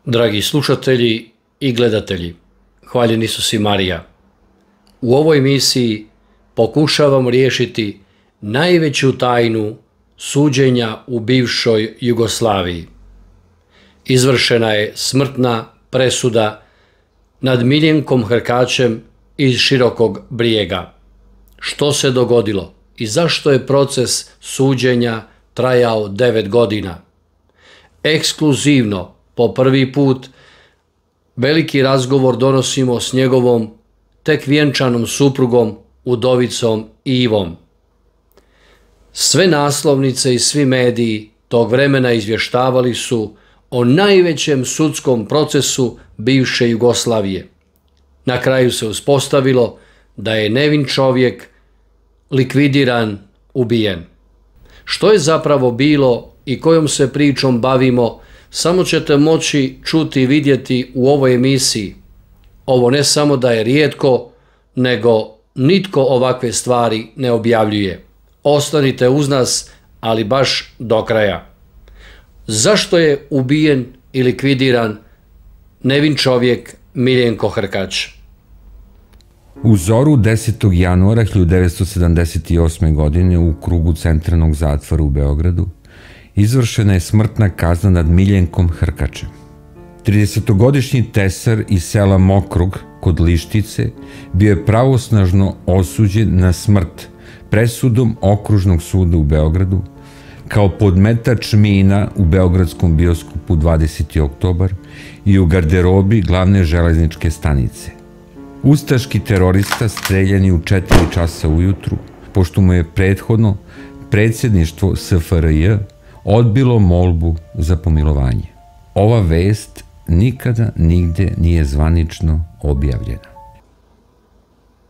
Dragi slušatelji i gledatelji, hvaljen Isus i Marija. U ovoj emisiji pokušavam riješiti najveću tajnu suđenja u bivšoj Jugoslaviji. Izvršena je smrtna presuda nad Miljenkom Hrkačem iz Širokog Brijega. Što se dogodilo i zašto je proces suđenja trajao 9 godina? Ekskluzivno, po prvi put, veliki razgovor donosimo s njegovom tek vjenčanom suprugom, udovicom Ivom. Sve naslovnice i svi mediji tog vremena izvještavali su o najvećem sudskom procesu bivše Jugoslavije. Na kraju se uspostavilo da je nevin čovjek likvidiran, ubijen. Što je zapravo bilo i kojom se pričom bavimo, samo ćete moći čuti i vidjeti u ovoj emisiji. Ovo ne samo da je rijetko, nego nitko ovakve stvari ne objavljuje. Ostanite uz nas, ali baš do kraja. Zašto je ubijen i likvidiran nevin čovjek Miljenko Hrkač? U zoru 10. januara 1978. godine u krugu Centralnog zatvora u Beogradu izvršena je smrtna kazna nad Miljenkom Hrkačem. 30-godišnji tesar iz sela Mokrug kod Lištice bio je pravosnažno osuđen na smrt presudom Okružnog suda u Beogradu kao podmetač mina u beogradskom bioskopu 20. oktobar i u garderobi glavne železničke stanice. Ustaški terorista streljan je u 4 časa ujutru, pošto mu je prethodno predsjedništvo SFRJ odbilo molbu za pomilovanje. Ova vest nikada nigde nije zvanično objavljena.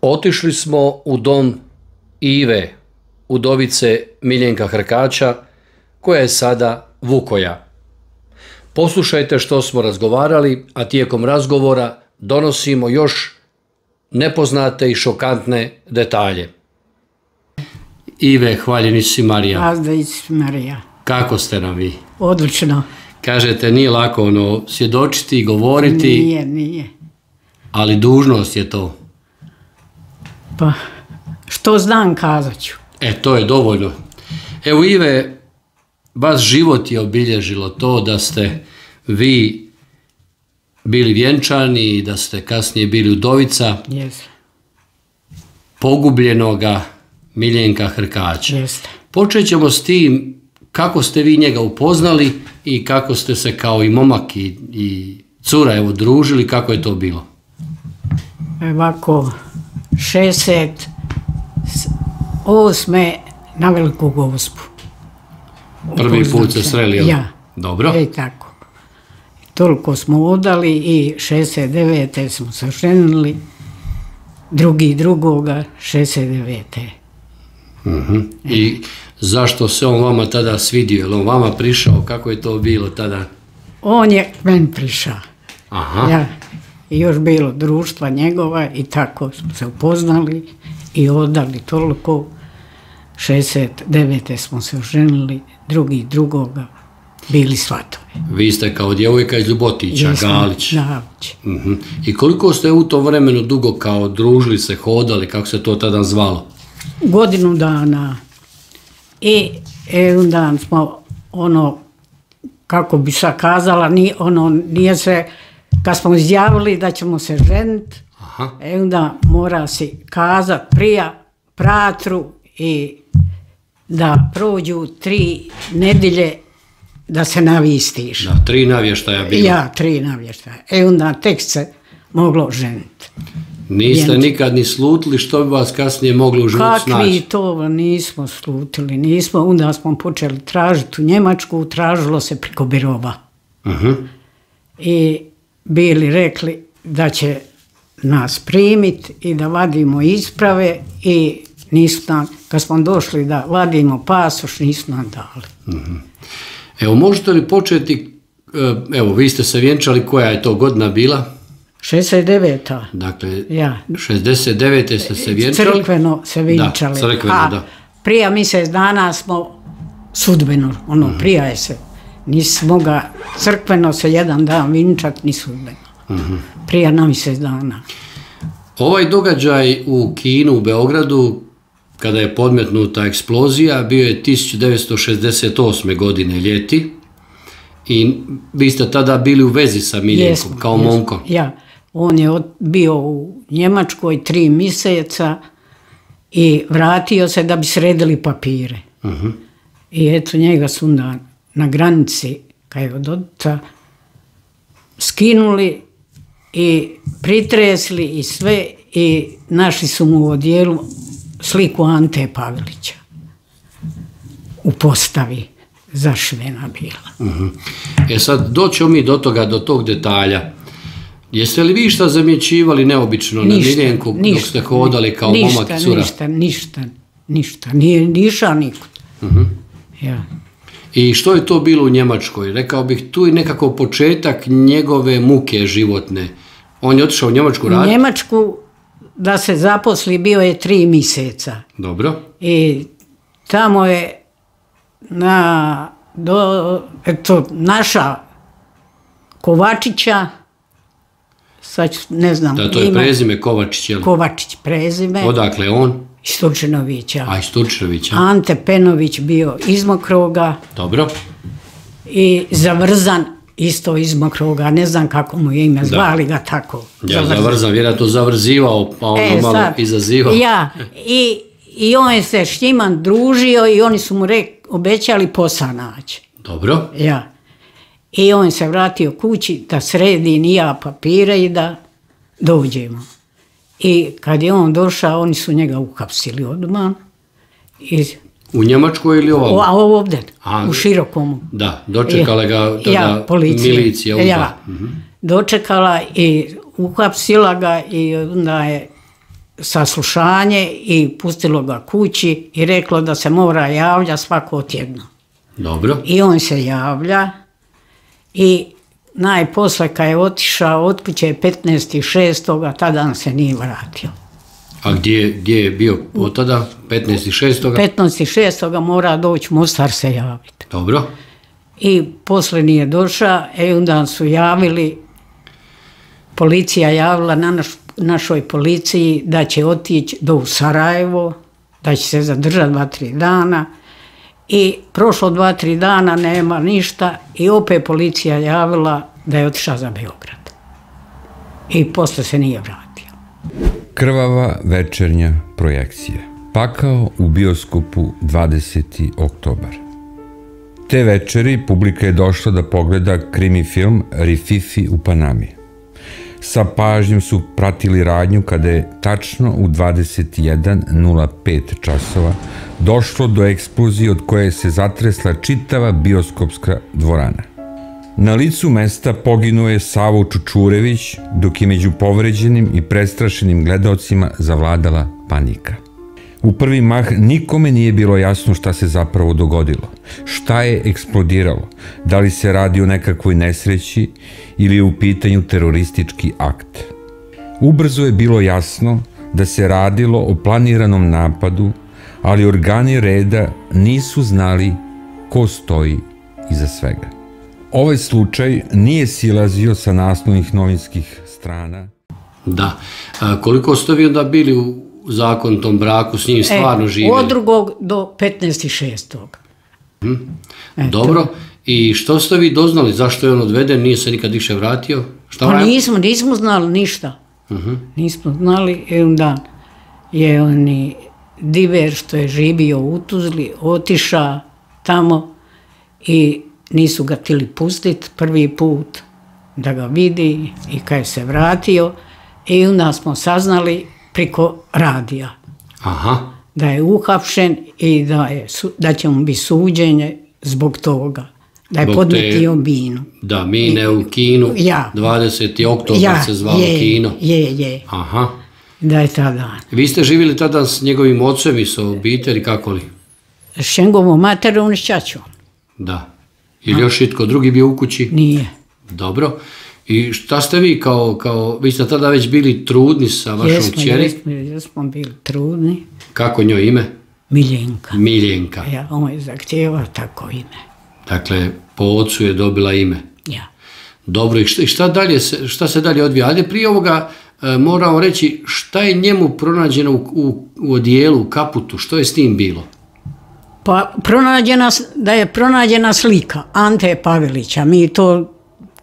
Otišli smo u dom Ive, udovice Miljenka Hrkača, koja je sada Vukoja. Poslušajte što smo razgovarali, a tijekom razgovora donosimo još nepoznate i šokantne detalje. Ive, hvaljen Isus i Marija. Azda Isus i Marija. Kako ste nam vi? Odlično. Kažete, nije lako svjedočiti i govoriti. Nije. Ali dužnost je to. Pa, što znam kazat ću. To je dovoljno. Evo, Ive, vas život je obilježilo to da ste vi bili vjenčani i da ste kasnije bili udovica pogubljenoga Miljenka Hrkača. Počet ćemo s tim kako ste vi njega upoznali i kako ste se kao i momak i cura družili, kako je to bilo? Ovako, 68. na Veliku Gospu. Prvi put se sreli, jel? Ja. Dobro. Tako. Toliko smo odali i 69. smo se ženili, drugoga 69. I zašto se on vama tada svidio? Je li on vama prišao? Kako je to bilo tada? On je meni prišao. Aha. Ja. I još bilo društva njegova i tako smo se upoznali i odali toliko. 69. smo se ženili, drugoga bili svatovi. Vi ste kao djevojka iz Ljubotića, Galić. Galić. I koliko ste u tom vremenu dugo kao družili se, hodali, kako se to tada zvalo? Godinu dana. I onda smo kako bi sad kazala, nije se, kad smo izjavili da ćemo se ženiti, onda mora si kazat prija pratru i da prođu 3 nedjelje da se navistiš. Da, 3 navještaja bilo. Ja, 3 navještaja. Onda tek se moglo ženiti. Niste nikad ni slutili što bi vas kasnije moglo u životu snaći? Kakvi to nismo slutili, onda smo počeli tražiti u Njemačku, tražilo se preko birova. I bili rekli da će nas primiti i da vadimo isprave i nisu nam, kad smo došli da vadimo pasoš, nisu nam dali. Evo, možete li početi, evo, vi ste se vjenčali, koja je to godina bila? 69. Dakle, 69. ste se vjenčali? Crkveno se vjenčali. Da, crkveno, da. Prije mjesec dana smo sudbeno, prije se Nismo ga crkveno se jedan dan vinčat, ni sudbeno. Prije na mjesec dana. Ovaj događaj u kinu u Beogradu, kada je podmetnuta eksplozija, bio je 1968. godine ljeti i vi ste tada bili u vezi sa Miljenkom, kao momkom. Ja, on je bio u Njemačkoj 3 mjeseca i vratio se da bi sredili papire. I eto, njega su na granici, kad je od oca, skinuli i pritresli i sve i našli su mu u odjelu sliku Ante Pavelića u postavi zašivena bila. Sad doćemo mi do toga, do tog detalja. Jeste li vi šta zamjećivali neobično na Miljenku dok ste hodali kao momak i cura? Ništa. Nije niša nikud. Ja. I što je to bilo u Njemačkoj? Rekao bih, tu je nekako početak njegove muke životne. On je otišao u Njemačku raditi? U Njemačku da se zaposli bio je 3 mjeseca. Dobro. I tamo je naša Kovačića, sad ne znam. Da, to je prezime Kovačić, je li? Kovačić prezime. Odakle on? Iz Turčinovića. A, iz Turčinovića. Ante Penović bio iz Mokroga. Dobro. I Zavrzan isto iz Mokroga, ne znam kako mu je ime, zvali ga tako. Ja, Zavrzan, vjerojatno zavrzivao, pa ono malo izazivao. Ja, i on je se s njima družio i oni su mu obećali posao naći. Dobro. Ja. I on se vratio kući da sredi ni ja papire i da dođemo. I kad je on došao, oni su njega uhapsili odmah. U Njemačkoj ili ovdje? A ovdje, u Širokomu. Da, dočekala ga tada milicija. Ja, dočekala i uhapsila ga i onda je saslušanje i pustilo ga kući i reklo da se mora javlja svako tjedno. Dobro. I on se javlja i najposle kad je otišao od kuće 15.6. tada se nije vratio. A gdje je bio od tada? 15.6. 15.6. mora doći Mostar se javiti. Dobro. I posle nije došao, onda su javili, policija javila na našoj policiji da će otići do Sarajevo, da će se zadržati 2-3 dana. I prošlo 2-3 dana, nema ništa i opet policija javila da je otišao za Beograd. I posle se nije vratio. Krvava večernja projekcija. Pakao u bioskopu 20. oktobar. Te večeri publika je došla da pogleda krimi film Rififi u Panami. Sa pažnjom su pratili radnju kada je tačno u 21:05 časova došlo do eksplozije od koje se zatresla čitava bioskopska dvorana. Na licu mesta poginuo je Savo Čučurević, dok je među povređenim i prestrašenim gledaocima zavladala panika. U prvi mah nikome nije bilo jasno šta se zapravo dogodilo, šta je eksplodiralo, da li se radi o nekakvoj nesreći ili je u pitanju teroristički akt. Ubrzo je bilo jasno da se radilo o planiranom napadu, ali organi reda nisu znali ko stoji iza svega. Ovaj slučaj nije silazio sa naslovnih novinskih strana. Da. Koliko ste vi onda bili u zakonitom braku, s njim stvarno živjeli? Od 2. do 15.6. Dobro. I što ste vi doznali? Zašto je on odveden? Nije se nikad više vratio? Pa nismo znali ništa. Nismo znali. Onda je oni diver što je živio u Tuzli otišao tamo i nisu ga htjeli pustiti prvi put da ga vidi i kad je se vratio i onda smo saznali preko radija da je uhapšen i da će mu biti suđenje zbog toga, da je podmetio minu. Da, mine u kinu, 20. oktobar se zvalo kino. Je. Aha. Da je tada. Vi ste živjeli tada s njegovim ocem i sa obitelji, kako li? S njegovom materom i s ćaćom. Da. Ili još itko drugi bio u kući? Nije. Dobro. I šta ste vi vi ste tada već bili trudni sa vašom kćeri? Jesmo bili trudni. Kako njoj ime? Miljenka. Miljenka. On je zahtjevao tako ime. Dakle, po ocu je dobila ime. Ja. Dobro, i šta se dalje odvija? Ajde, prije ovoga moramo reći šta je njemu pronađeno u odijelu, u kaputu, što je s tim bilo? Pa da je pronađena slika Ante Pavelića. Mi to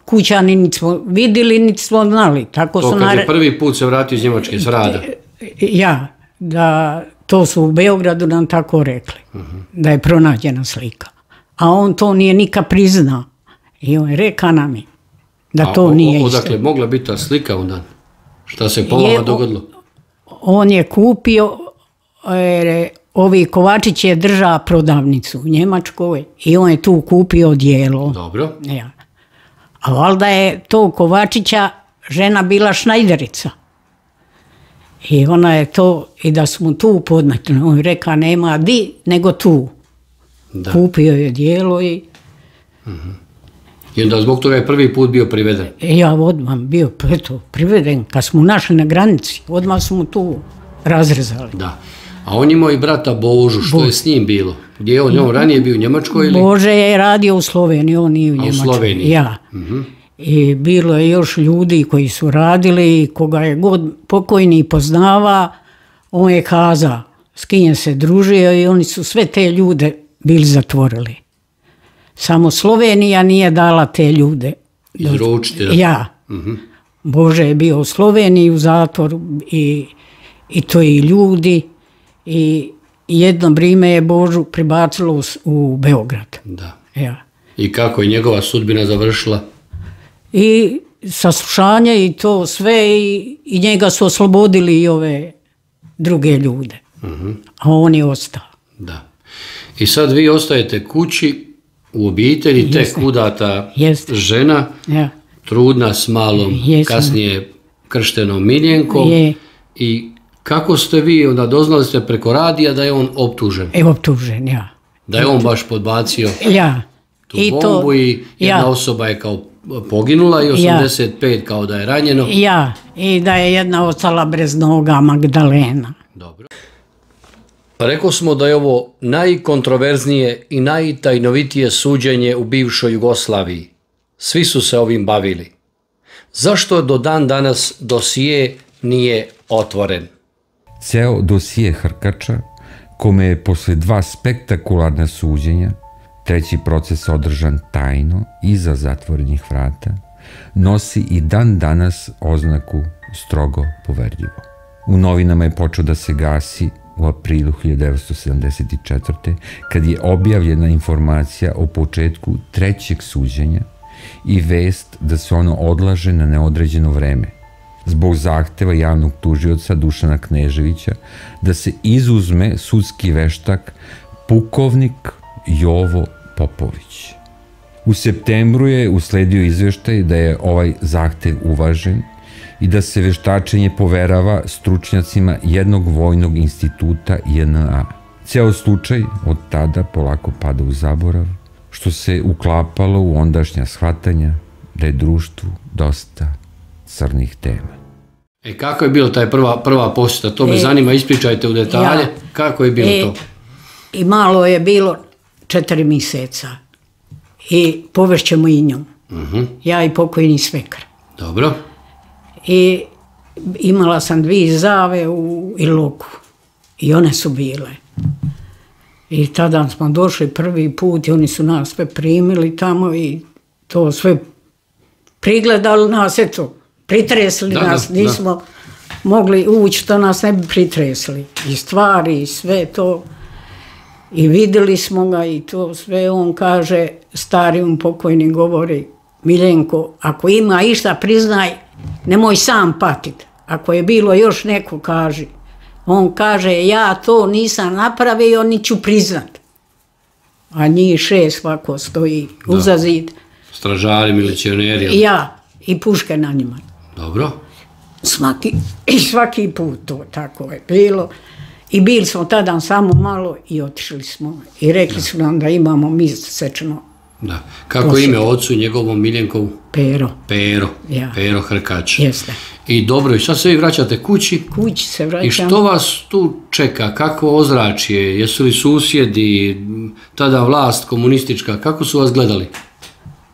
kućani niti smo vidjeli, niti smo znali. Tako to kad je prvi put se vratio iz Njemačke, s rada? Ja, da to su u Beogradu nam tako rekli, da je pronađena slika. A on to nije nikad priznao. I on je rekao nam je da to nije isto. Odakle mogla biti ta slika onda? Šta se po vama dogodilo? On je kupio, ovi Kovačić je držao prodavnicu u Njemačkoj i on je tu kupio odijelo. Dobro. Ja. A valjda je to Kovačića žena bila šnajderica. I ona je to, i da smo tu podmetli, on je rekao nema di, nego tu. Da. Kupio je odijelo i... I onda zbog toga je prvi put bio priveden? Ja odmah bio priveden, kad smo našli na granici, odmah smo tu razrezali. Da. A on imao i brata Božu, što je s njim bilo? Gdje je on ranije bio u Njemačkoj ili? Bože je radio u Sloveniji, on nije u Njemačkoj. A u Sloveniji? Ja. I bilo je još ljudi koji su radili, koga je god pokojni poznava, on je kazao s kim se družio i oni su sve te ljude bili zatvorili. Samo Slovenija nije dala te ljude. Izručiti? Ja. Bože je bio u Sloveniji u zatvoru i to i ljudi i jedno vrijeme je Božu pribacilo u Beograd. Da. Ja. I kako je njegova sudbina završila? I saslušanje i to sve i njega su oslobodili i ove druge ljude. A on je ostao. Da. I sad vi ostajete kući u obitelji, tek udata žena, trudna s malom, kasnije krštenom Miljenkom. I kako ste vi, onda doznali ste preko radija da je on optužen? Optužen, ja. Da je on baš podbacio tu bombu i jedna osoba je kao poginula i 85 kao da je ranjeno. Ja, i da je jedna ostala bez noga, Magdalena. Dobro. Rekao smo da je ovo najkontroverznije i najtajnovitije suđenje u bivšoj Jugoslaviji. Svi su se ovim bavili. Zašto do dan danas dosije nije otvoren? Ceo dosije Hrkača, kome je posle 2 spektakularna suđenja, treći proces održan tajno iza zatvorenih vrata, nosi i dan danas oznaku strogo poverljivo. U novinama je počeo da se gasi u aprilu 1974. kad je objavljena informacija o početku trećeg suđenja i vest da se ono odlaže na neodređeno vreme, zbog zahteva javnog tužioca Dušana Kneževića da se izuzme sudski veštak pukovnik Jovo Popović. U septembru je usledio izveštaj da je ovaj zahtev uvažen i da se veštačenje poverava stručnjacima jednog vojnog instituta JNA. Ceo slučaj od tada polako pada u zaborav, što se uklapalo u ondašnja shvatanja da je društvu dosta crnih tema. Kako je bilo taj prva posjeta? To me zanima, ispričajte u detalje. Kako je bilo to? I malo je bilo 4 mjeseca i povešćemo i njom. Ja i pokojni svekar. Dobro. I imala sam 2 zave u Iloku i one su bile. I tada smo došli prvi put i oni su nas sve primili tamo i to sve prigledali nas, eto, pritresli nas, nismo mogli ući, to nas ne bi pritresli. I stvari i sve to. I vidjeli smo ga i to sve, on kaže, stari on pokojni govori, Miljenko, ako ima išta priznaj, nemoj sam patit. Ako je bilo još neko, kaži. On kaže, ja to nisam napravio, ni ću priznat. A njih 6 ovako stoji uza zid. Stražari, milicioneri. Ja, i puške na njima. Dobro. Svaki put to tako je bilo. I bili smo tada samo malo i otišli smo. I rekli su nam da imamo mjesečno. Da. Kako ime ocu njegovom Miljenkovu? Pero. Pero Hrkač. Jeste. I dobro, i sad se vi vraćate kući. Kući se vraćam. I što vas tu čeka? Kakvo ozračje? Jesu li susjedi, tada vlast komunistička, kako su vas gledali?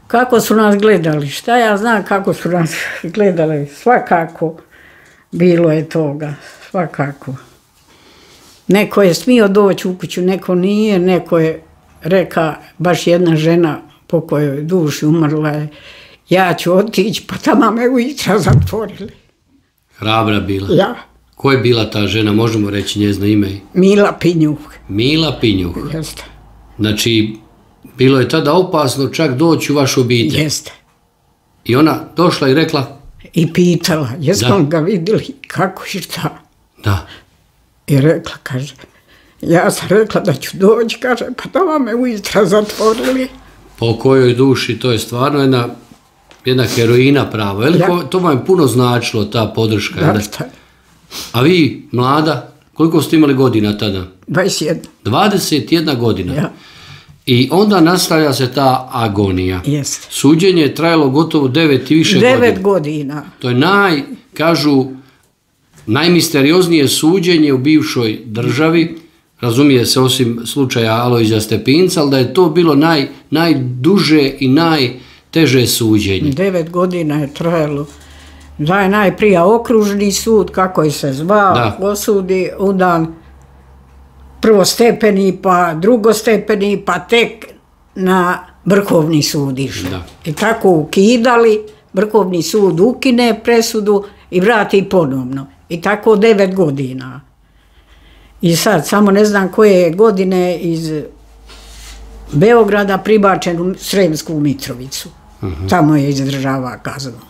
Kako su nas gledali? Šta ja znam kako su nas gledali? Svakako bilo je toga, svakako. Neko je smio doći u kuću, neko nije, neko je reka, baš jedna žena po kojoj duši umrla je, ja ću otići, pa tamo me ujutro zatvorili. Hrabra bila? Ja. Ko je bila ta žena, možemo reći njezino ime? Mila Pinjuh. Mila Pinjuh. Jeste. Znači, bilo je tada opasno čak doći u vašu obitelj. Jeste. I ona došla i rekla? I pitala, jesmo ga vidjeli, kako i šta. Da. I rekla, kaže, ja sam rekla da ću doći, kaže, pa tamo me ujutro zatvorili. Po kojoj duši, to je stvarno jedna heroina prava. To vam je puno značilo, ta podrška. Da, šta? A vi, mlada, koliko ste imali godina tada? 21. 21 godina. Ja. I onda nastavlja se ta agonija. Jeste. Suđenje je trajalo gotovo 9 i više godina. 9 godina. To je kažu, najmisterioznije suđenje u bivšoj državi, razumije se osim slučaja Alojzija Stepinca, ali da je to bilo najduže i najteže suđenje. 9 godina je trajalo. Da je najprije okružni sud, kako je se zvao, osudi, onda prvostepeni, pa drugostepeni, pa tek na Vrhovni sud išli. I tako ukidali, Vrhovni sud ukine presudu i vrati ponovno. I tako 9 godina. I sad, samo ne znam koje godine iz Beograda pribačen u Sremsku Mitrovicu. Tamo je izdržava kaznu.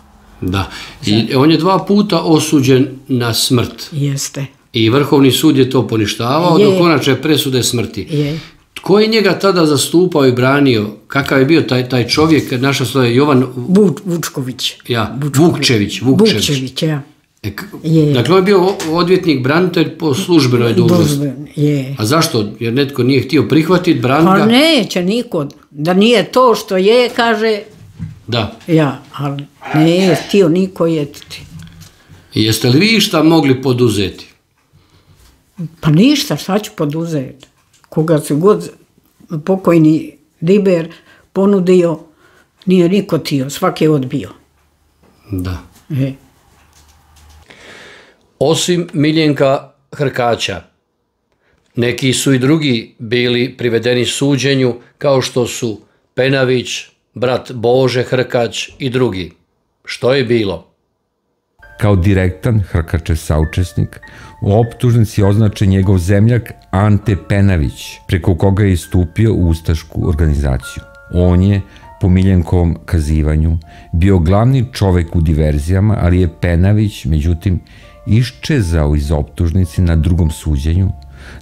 Da. I on je 2 puta osuđen na smrt. Jeste. I Vrhovni sud je to poništavao do konačne presude smrti. Tko je njega tada zastupao i branio? Kakav je bio taj čovjek? Naša slova je Jovan... Vučković. Ja, Vukčević. Vukčević, ja. Dakle, on je bio odvjetnik, branitelj po službenoj dužnosti. A zašto? Jer netko nije htio prihvatiti, braniti ga? Pa neće niko. Da nije to što je, kaže... Da. Ja, ali nije htio niko jetiti. I jeste li vi šta mogli poduzeti? Pa ništa, šta ću poduzeti? Koga se god pokojni Diber ponudio, nije niko htio, svak je odbio. Da. Osim Miljenka Hrkaća, neki su i drugi bili privedeni suđenju, kao što su Penavić, brat Bože Hrkać i drugi. Što je bilo? Kao direktan Hrkačev saučesnik, u optužnici je označen njegov zemljak Ante Penavić, preko koga je istupio u ustašku organizaciju. On je, po Miljenkovom kazivanju, bio glavni čovek u diverzijama, ali je Penavić, međutim, iščezao iz optužnice na drugom suđenju,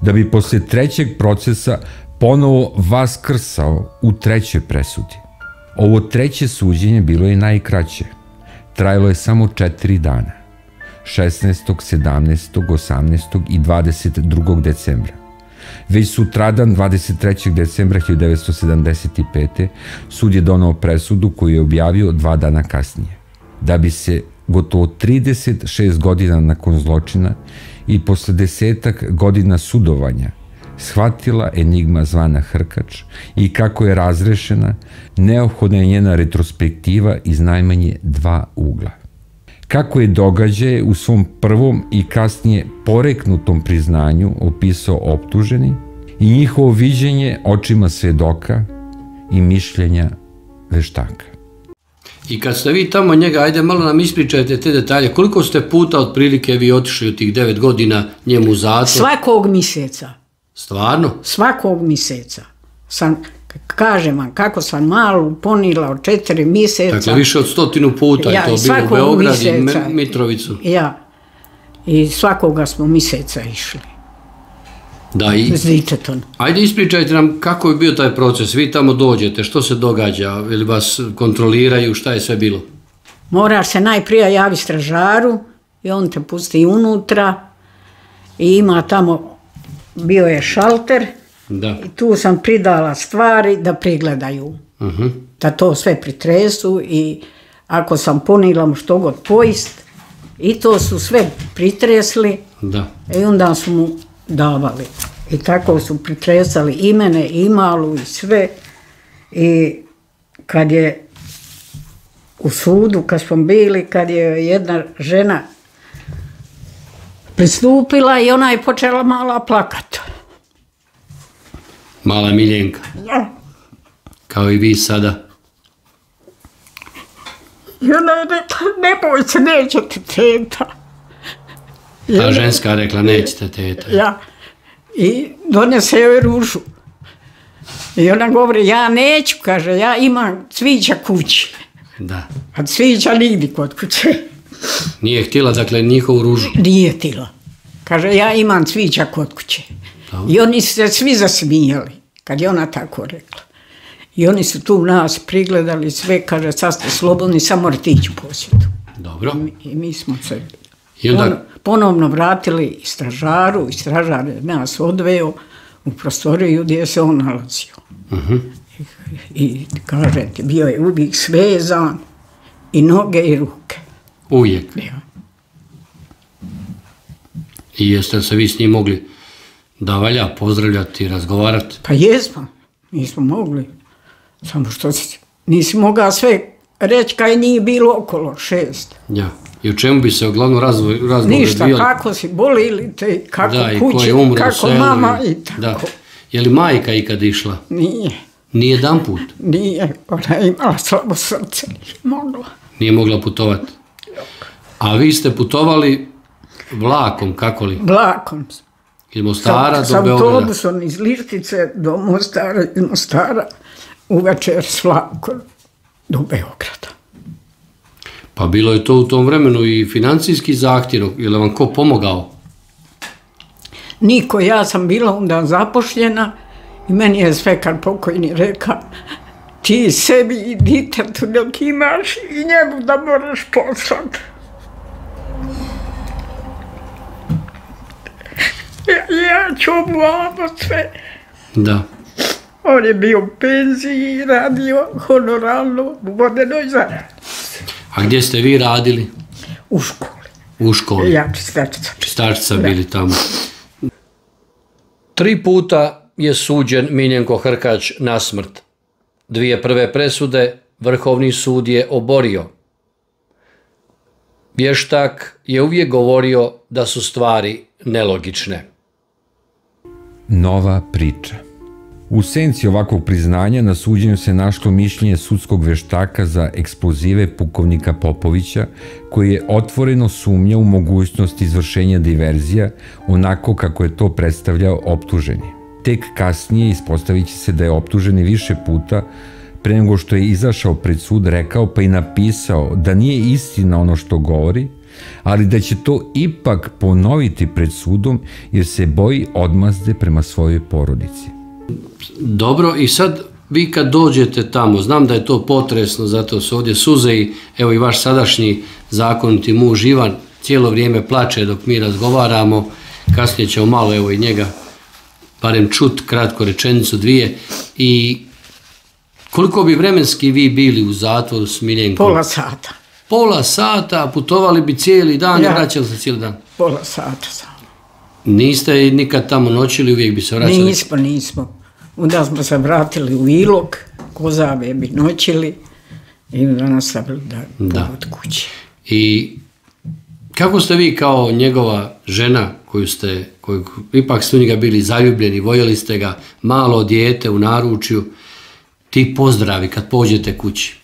da bi posle 3. procesa ponovo vaskrsao u 3. presudi. Ovo 3. suđenje bilo je najkraće. Trajalo je samo 4 dana. 16., 17., 18. i 22. decembra. Već sutradan, 23. decembra 1975. sud je donao presudu koju je objavio 2 dana kasnije. Da bi se gotovo 36 godina nakon zločina i posle 10 godina sudovanja shvatila enigma zvana Hrkač i kako je razrešena, neophodna je njena retrospektiva iz najmanje 2 ugla. Kako je događaje u svom prvom i kasnije poreknutom priznanju opisao optuženi i njihovo viđenje očima svedoka i mišljenja veštaka. I kad ste vi tamo njega, ajde malo nam ispričajte te detalje, koliko ste puta otprilike vi otišli u tih 9 godina njemu u zatvor? Svakog mjeseca. Stvarno? Svakog mjeseca. Kažem vam, kako sam malu ponila od 4 mjeseca. Dakle, više od 100 puta je to bilo u Beograd i Mitrovicu. Ja. I svakoga smo mjeseca išli. Da, i... S ditetom. Ajde ispričajte nam kako je bio taj proces. Vi tamo dođete, što se događa? Ili vas kontroliraju, šta je sve bilo? Moraš se najprije javiti stražaru i on te pusti unutra i ima tamo, bio je šalter. I tu sam pridala stvari da pregledaju, da to sve pritresu i ako sam ponila mu što god pojist I to su sve pritresli i onda su mu davali. I tako su pritresali i mene, i malu, i sve. I kad je u sudu, kad smo bili, kad je jedna žena pristupila i ona je počela mala plakati. Mala Miljenka? Ja. Kao i vi sada? I ona je rekla, ne boj se, nećete teta. Ta ženska rekla, nećete teta. Ja. I donese joj ružu. I ona govori, ja neću, kaže, ja imam cvića kući. Da. A cvića nigdje kod kuće. Nije htjela, dakle, njihovu ružu? Nije htjela. Kaže, ja imam cvića kod kuće. I oni su se svi zasmijali, kad je ona tako rekla. I oni su tu nas prigledali sve, kaže, sad ste slobodni, samo morate ići u posjetu. Dobro. I mi smo se ponovno vratili stražaru, i stražar je nas odveo u prostoriju gdje se on nalazio. I kažete, bio je uvijek svezan, i noge i ruke. Uvijek? Ja. I jeste se vi s njim mogli da valja pozdravljati i razgovarati? Pa jesmo, nismo mogli. Samo što nisi mogao sve reći kaj nije bilo okolo 6. Ja. I u čemu bi se uglavnom razgovor ništa, kako si boli ili te, kako kući, kako mama i tako. Da. Je li majka ikad išla? Nije. Nije jedan put? Nije, ona je imala slabo srce, nije mogla. Nije mogla putovati? A vi ste putovali vlakom, kako li? Vlakom. Iz Mostara do Beograda? Sa autobusom iz Lištice do Mostara, iz Mostara uvečer s vlakom do Beograda. Pa bilo je to u tom vremenu i financijski zahtjev, je li vam ko pomogao? Niko, ja sam bila onda zapošljena i meni je Svekar pokojni rekao, ti sebi i ditetu dok imaš i njemu da moraš poslati. Ja ću obvamo sve. Da. On je bio u penziji i radio honoralno u vodenoj zaradi. A gdje ste vi radili? U školi. U školi? Ja, čistačica. Čistačica bili tamo. 3 puta je suđen Miljenko Hrkać na smrt. 2 prve presude Vrhovni sud je oborio. Vještak je uvijek govorio da su stvari nelogične. Nova priča. U senci ovakvog priznanja na suđenju se našlo mišljenje sudskog veštaka za eksplozive pukovnika Popovića, koji je otvoreno sumnjao u mogućnost izvršenja diverzija onako kako je to predstavljao optuženi. Tek kasnije ispostavit će se da je optuženi više puta pre nego što je izašao pred sud rekao pa i napisao da nije istina ono što govori, ali da će to ipak ponoviti pred sudom jer se boji odmazde prema svojoj porodici. Dobro, i sad vi kad dođete tamo, znam da je to potresno, zato su ovdje suze i evo i vaš sadašnji zakoniti muž Ivan cijelo vrijeme plače dok mi razgovaramo, kasnije ćemo malo evo i njega barem čut, kratko rečenicu, 2. I koliko bi vremenski vi bili u zatvoru s Miljenkom? Pola sata. Pola sata, putovali bi cijeli dan i vraćali se cijeli dan? Pola sata sam. Niste nikad tamo noćili, uvijek bi se vraćali? Nismo. Onda smo se vratili u Ilok, Kozave bi noćili i onda nastavili da od kući. I kako ste vi kao njegova žena, koju ipak ste u njega bili zaljubljeni, voljeli ste ga, malo dijete u naručju, ti pozdravi kad pođete kući?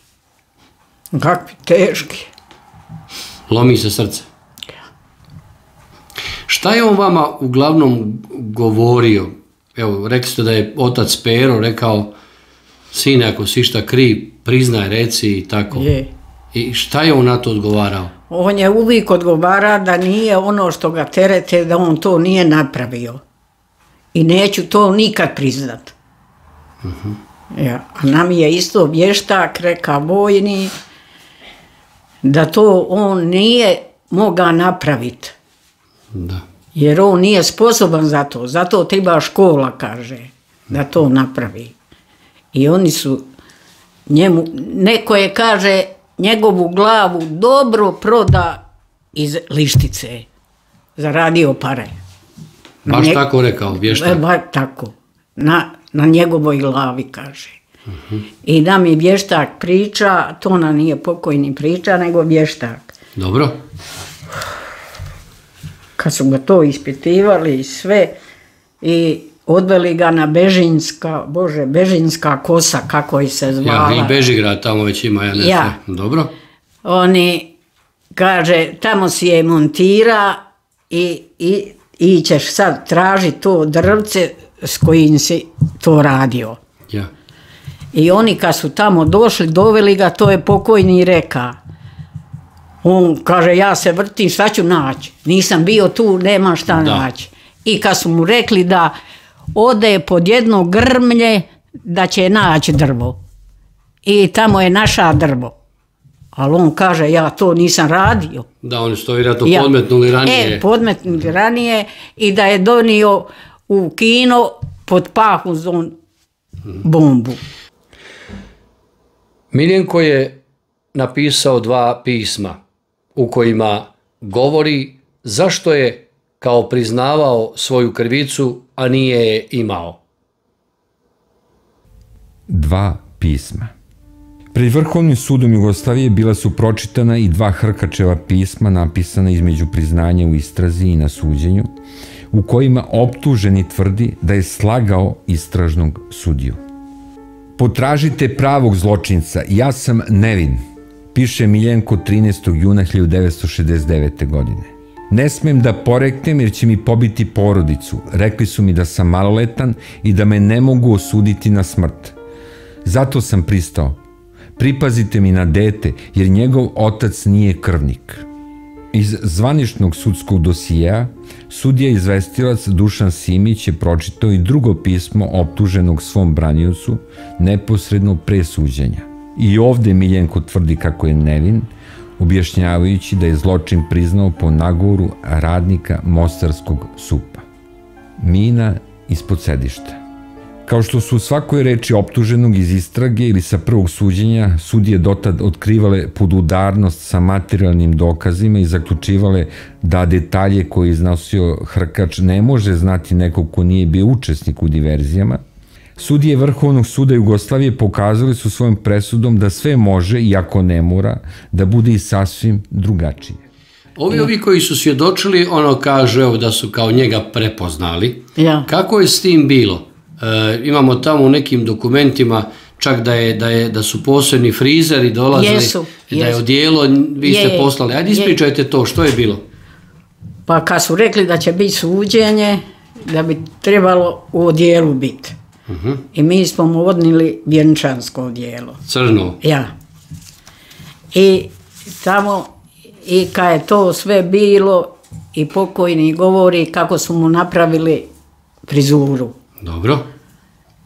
Kakvi teški. Lomi se srce? Šta je on vama uglavnom govorio? Evo, rekli ste da je otac Pero rekao, sine, ako si šta kriv, priznaj, reci i tako. Je. I šta je on na to odgovarao? On je uvijek odgovara da nije ono što ga terete, da on to nije napravio. I neću to nikad priznat. Ja. A nam je isto vještak, reka vojni, da to on nije mogao napraviti. Da. Jer on nije sposoban za to. Zato treba škola, kaže, da to napravi. I oni su njemu, neko je, kaže, njegovu glavu dobro proda iz Lištice. Zaradio pare. Baš tako rekao, vještak? Baš tako. Na njegovoj glavi, kaže. I da mi vještak priča, to nam nije pokojni priča, nego vještak. Dobro. Kad su ga to ispitivali i sve, i odveli ga na Bežinska kosa, kako je se zvala. Ja, i Bežigrad tamo već ima, ja ne znam. Dobro. Oni, kaže, tamo si je montira i ćeš sad tražiti to drvce s kojim si to radio. Ja. I oni kad su tamo došli, doveli ga, to je pokojni reka. On kaže, ja se vrtim, šta ću naći? Nisam bio tu, nema šta naći. I kad su mu rekli da ode pod jedno grmlje, da će naći drvo. I tamo je naša drvo. Ali on kaže, ja to nisam radio. Da, oni su to vjerojatno podmetnuli ranije. Podmetnuli ranije i da je donio u kino pod pahuzom bombu. Miljenko je napisao 2 pisma u kojima govori zašto je kao priznavao svoju krivicu, a nije je imao. 2 pisma. Pred Vrhovnim sudom Jugoslavije bila su pročitana i 2 Hrkačeva pisma napisana između priznanja u istrazi i na suđenju, u kojima optuženi tvrdi da je slagao istražnog sudiju. Potražite pravog zločinca, ja sam nevin, piše Miljenko 13. juna 1969. godine. Ne smem da poreknem jer će mi pobiti porodicu. Rekli su mi da sam maloletan i da me ne mogu osuditi na smrt. Zato sam pristao. Pripazite mi na dete jer njegov otac nije krvnik. Iz zvaničnog sudskog dosijeja sudija izvestilac Dušan Simić je pročitao i drugo pismo optuženog svom braniocu neposredno pre suđenja. I ovde Miljenko tvrdi kako je nevin, objašnjavajući da je zločin priznao po nagovoru radnika Mostarskog SUP-a. Mina ispod sedišta. Kao što su u svakoj reči optuženog iz istrage ili sa prvog suđenja, sudije dotad otkrivale podudarnost sa materijalnim dokazima i zaključivale da detalje koje je iznosio Hrkač ne može znati neko ko nije bio učesnik u diverzijama, sudije Vrhovnog suda Jugoslavije pokazali su svojom presudom da sve može, iako ne mora, da bude i sasvim drugačije. Ovi koji su svjedočili, ono kaže da su kao njega prepoznali. Kako je s tim bilo? Imamo tamo u nekim dokumentima čak da su posebni frizeri dolazili, da je odijelo, vi ste poslali. Ajde ispričajte to, što je bilo? Pa kad su rekli da će biti suđenje, da bi trebalo u odijelu biti. I mi smo mu odnili vjenčansko odijelo. Crno? Ja. I tamo, i kad je to sve bilo, i pokojni govori kako su mu napravili frizuru. Dobro.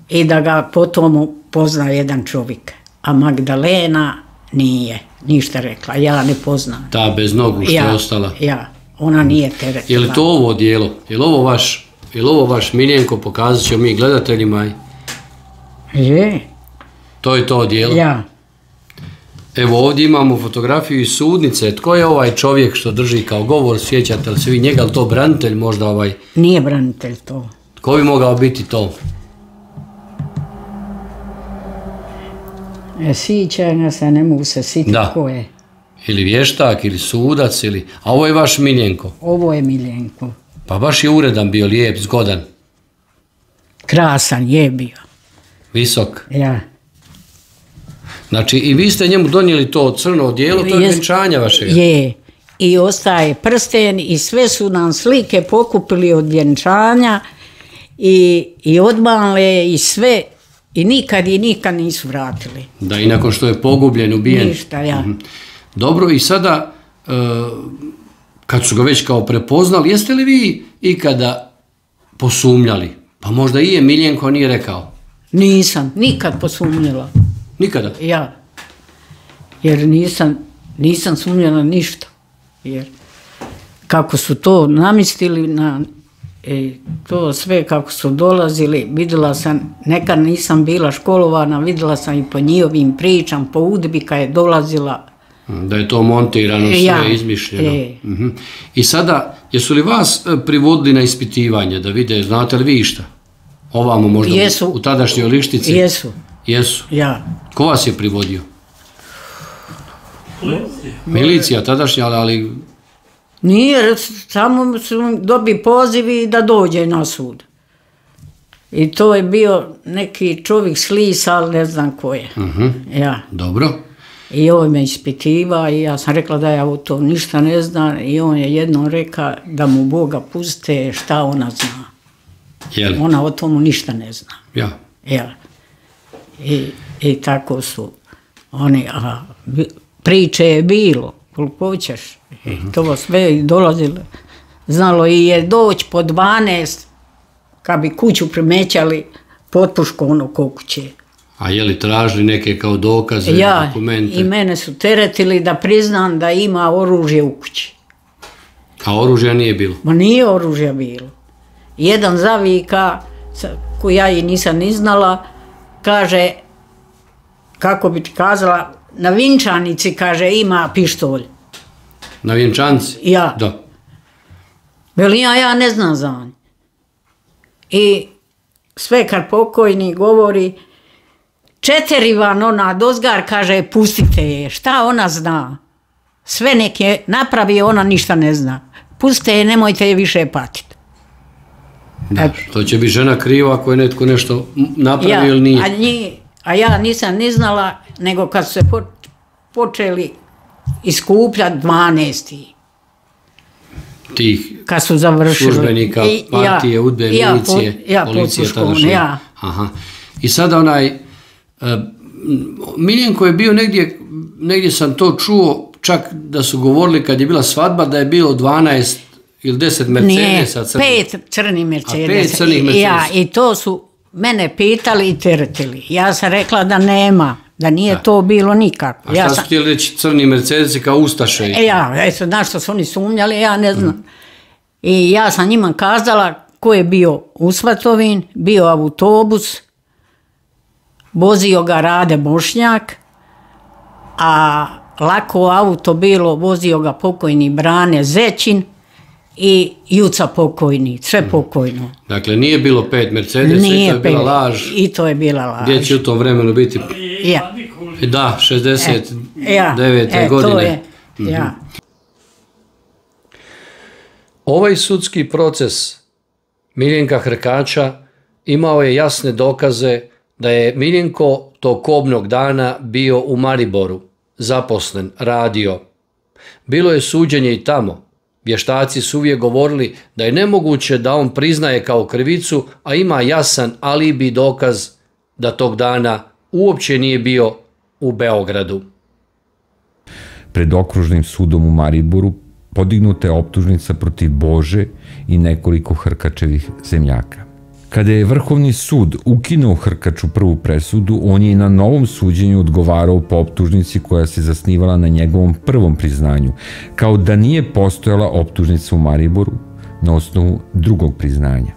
I da ga potom pozna jedan čovjek. A Magdalena nije ništa rekla, ja ne poznam. Ta bez nogu što je ostala? Ja, ona nije teretila. Je li to ovo odijelo? Je li ovo vaš Miljenko, pokazat ćemo mi gledateljima? Je. To je to odijelo? Ja. Evo ovdje imamo fotografiju iz sudnice. Tko je ovaj čovjek što drži kao govor? Sjećate li se vi njega, ali to branitelj možda ovaj? Nije branitelj to. Tko bi mogao biti to? Sjećanja se, ne mogu se sjetiti ko je. Ili vještak, ili sudac, ili... A ovo je vaš Miljenko? Ovo je Miljenko. Pa baš je uredan bio, lijep, zgodan. Krasan je bio. Visok? Ja. Znači, i vi ste njemu donijeli to crno odijelo, to je vjenčanja vašega? Je. I ostaje prsten i sve su nam slike pokupili od vjenčanja i odmale i sve i nikad nisu vratili. Da, i nakon što je pogubljen, ubijen. Ništa, ja. Dobro, i sada, kad su ga već kao prepoznali, jeste li vi ikada posumnjali? Pa možda i je Miljenko nije rekao. Nisam, nikad posumnjala. Nikada? Ja. Jer nisam sumnjala ništa. Jer kako su to namistili to sve kako su dolazili, vidjela sam, nekad nisam bila školovana, vidjela sam i po njihovim pričam, po udbi kad je dolazila, Da je to montirano, sve izmišljeno. I sada, jesu li vas privodili na ispitivanje, da vide, znate li vi išta? Ovamo možda u tadašnjoj Lištici? Jesu. Jesu? Ja. Ko vas je privodio? Milicija tadašnja, ali... Nije, samo su dobi pozivi da dođe na sud. I to je bio neki čovjek s Lisa, ali ne znam ko je. Dobro. I on me ispitiva i ja sam rekla da ja o to ništa ne znam i on je jednom rekao da mu Boga puste šta ona zna. Ona o tomu ništa ne zna. I tako su oni, priče je bilo, koliko hoćeš. To sve dolazilo. Znalo i je doći po 12, kad bi kuću primećali, potpuško ono ko kuće. A je li tražili neke kao dokaze, dokumente? I mene su teretili da priznam da ima oružje u kući. A oružja nije bilo? Ma nije oružja bilo. Jedan zavika, koju ja i nisam ni znala, kaže, kako bi ti kazala, na Vinčanici, kaže, ima pištolj. Na Vinčanici? Ja. Da. Veli ja ne znam za nje. I sve kad pokojni govori, 4 van ona dozgar, kaže, pustite je. Šta ona zna? Sve neke napravi, ona ništa ne zna. Pustite je, nemojte je više patiti. Da, to će biti žena kriva ako je netko nešto napravi ili nije. A ja nisam ni znala, nego kad su se počeli iskupljati 12. Tih kad su završili. Službenika, partije, udbe, milicije, policije tadašnje. I sada Miljenko je bio negdje sam to čuo, čak da su govorili kad je bila svadba da je bilo 12 ili 10 Mercedesa crnih. Nije, 5 crnih Mercedesa. 5 crnih Mercedesa. I to su mene pitali i teretili. Ja sam rekla da nema, da nije to bilo nikako. A šta su htjeli reći crni Mercedesi kao ustaše? Eto, znaš što su oni sumnjali, ja ne znam. I ja sam njima kazala ko je bio u Svatovin, bio autobus, vozio ga Rade Bošnjak, a lako auto bilo, vozio ga pokojni Brane Zećin i Juca pokojni, sve pokojno. Dakle, nije bilo 5 Mercedesa i to je bila laž. I to je bila laž. Gdje će u tom vremenu biti? Da, 69. godine. Ovaj sudski proces Miljenka Hrkača imao je jasne dokaze da je Miljenko tog kobnog dana bio u Mariboru, zaposlen, radio. Bilo je suđenje i tamo. Vještaci su uvijek govorili da je nemoguće da on priznaje kao krivicu, a ima jasan alibi dokaz da tog dana uopće nije bio u Beogradu. Pred okružnim sudom u Mariboru podignuta je optužnica protiv Bože i nekoliko Hrkačevih zemljaka. Kada je Vrhovni sud ukinuo Hrkaču prvu presudu, on je i na novom suđenju odgovarao po optužnici koja se zasnivala na njegovom prvom priznanju, kao da nije postojala optužnica u Mariboru na osnovu drugog priznanja.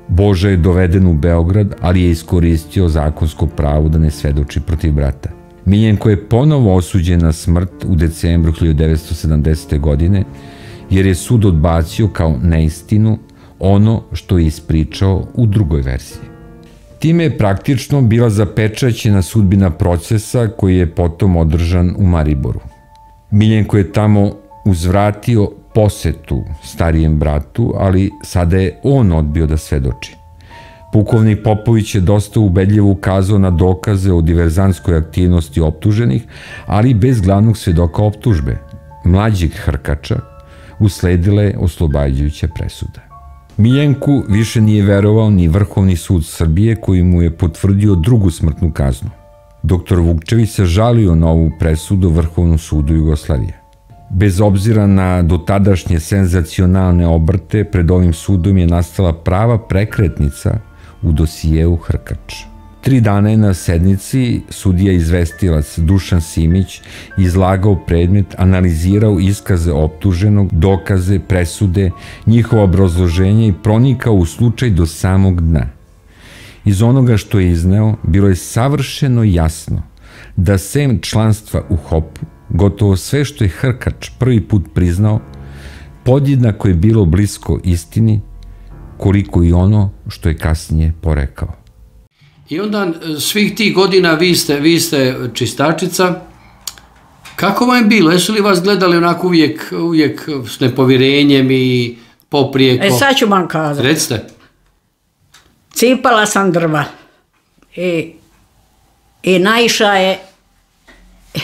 Boža je doveden u Beograd, ali je iskoristio zakonsko pravo da ne svedoči protiv brata. Miljenko je ponovo osuđen na smrt u decembru 1970. godine, jer je sud odbacio kao neistinu ono što je ispričao u drugoj verziji. Time je praktično bila zapečaćena sudbina procesa koji je potom održan u Mariboru. Miljenko je tamo uzvratio posetu starijem bratu, ali sada je on odbio da svedoči. Pukovnik Popović je dosta ubedljivo ukazao na dokaze o diverzantskoj aktivnosti optuženih, ali bez glavnog svedoka optužbe, mlađeg Hrkača, usledila je oslobađajuća presuda. Miljenku više nije verovao ni Vrhovni sud Srbije koji mu je potvrdio drugu smrtnu kaznu. Doktor Vukčević se žalio na ovu presudu Vrhovnom sudu Jugoslavije. Bez obzira na dotadašnje senzacionalne obrte, pred ovim sudom je nastala prava prekretnica u dosijeu Hrkač. 3 dana je na sednici sudija izvestilac Dušan Simić izlagao predmet, analizirao iskaze optuženog, dokaze, presude, njihovo obrazloženje i pronikao u slučaj do samog dna. Iz onoga što je izneo, bilo je savršeno jasno da sem članstva u HOP-u gotovo sve što je Hrkač prvi put priznao, podjednako je bilo blisko istini, koliko i ono što je kasnije porekao. I onda svih tih godina vi ste čistačica. Kako vam je bilo? Jesu li vas gledali onako uvijek s nepovjerenjem i poprijeko? Sad ću vam kazati. Recite. Cipala sam drva i naišao je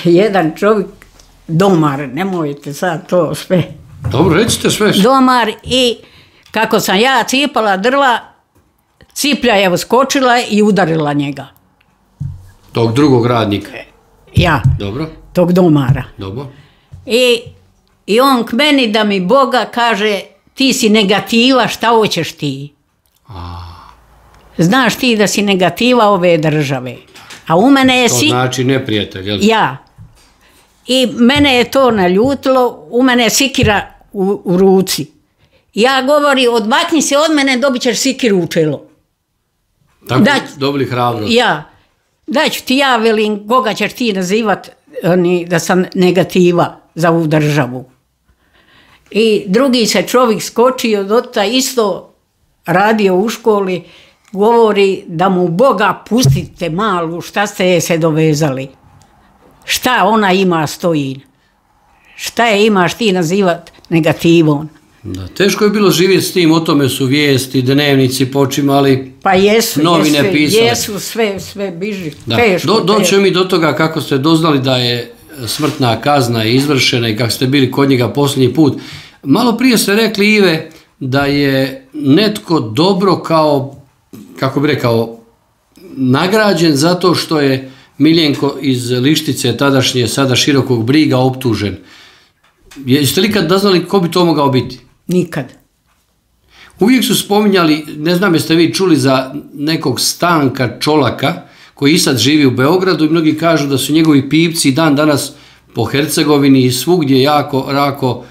jedan čovjek, domar, nemojte sad to sve. Dobro, recite sve. Domar i kako sam ja cipala drva, ciplja je uskočila i udarila njega. Tog drugog radnika? Ja. Dobro. Tog domara. Dobro. I on k meni da mi Boga kaže, ti si negativa, šta hoćeš ti? Znaš ti da si negativa ove države. A u mene je... To znači neprijatelj, jel? Ja. I mene je to naljutilo, u mene je sikira u ruci. Ja govori, odmakni se od mene, dobit ćeš sikiru u čelo. Tako dobili hrabrost. Ja. Daću ti ja, velim, koga ćeš ti nazivat da sam negativa za ovu državu. I drugi se čovjek skočio, dota isto radio u školi, govori da mu Boga pustite malu, šta ste je se dovezali. Šta ona ima stoji? Šta je imaš ti nazivat negativom? Da, teško je bilo živjeti s tim, o tome su vijesti, dnevnici počimali, pa jesu, novine pisali. Jesu, sve biži. Doćemo mi do toga kako ste doznali da je smrtna kazna izvršena i kako ste bili kod njega posljednji put. Malo prije ste rekli, Ive, da je netko dobro kao, kako bi rekao, nagrađen zato što je Miljenko iz Lištice, tadašnje, sada Širokog Briga, optužen. Jeste li kad doznali ko bi to mogao biti? Nikad. Uvijek su spominjali, ne znam jeste vi čuli za nekog Stanka Čolaka, koji i sad živi u Beogradu i mnogi kažu da su njegovi pipci dan danas po Hercegovini i svugdje jako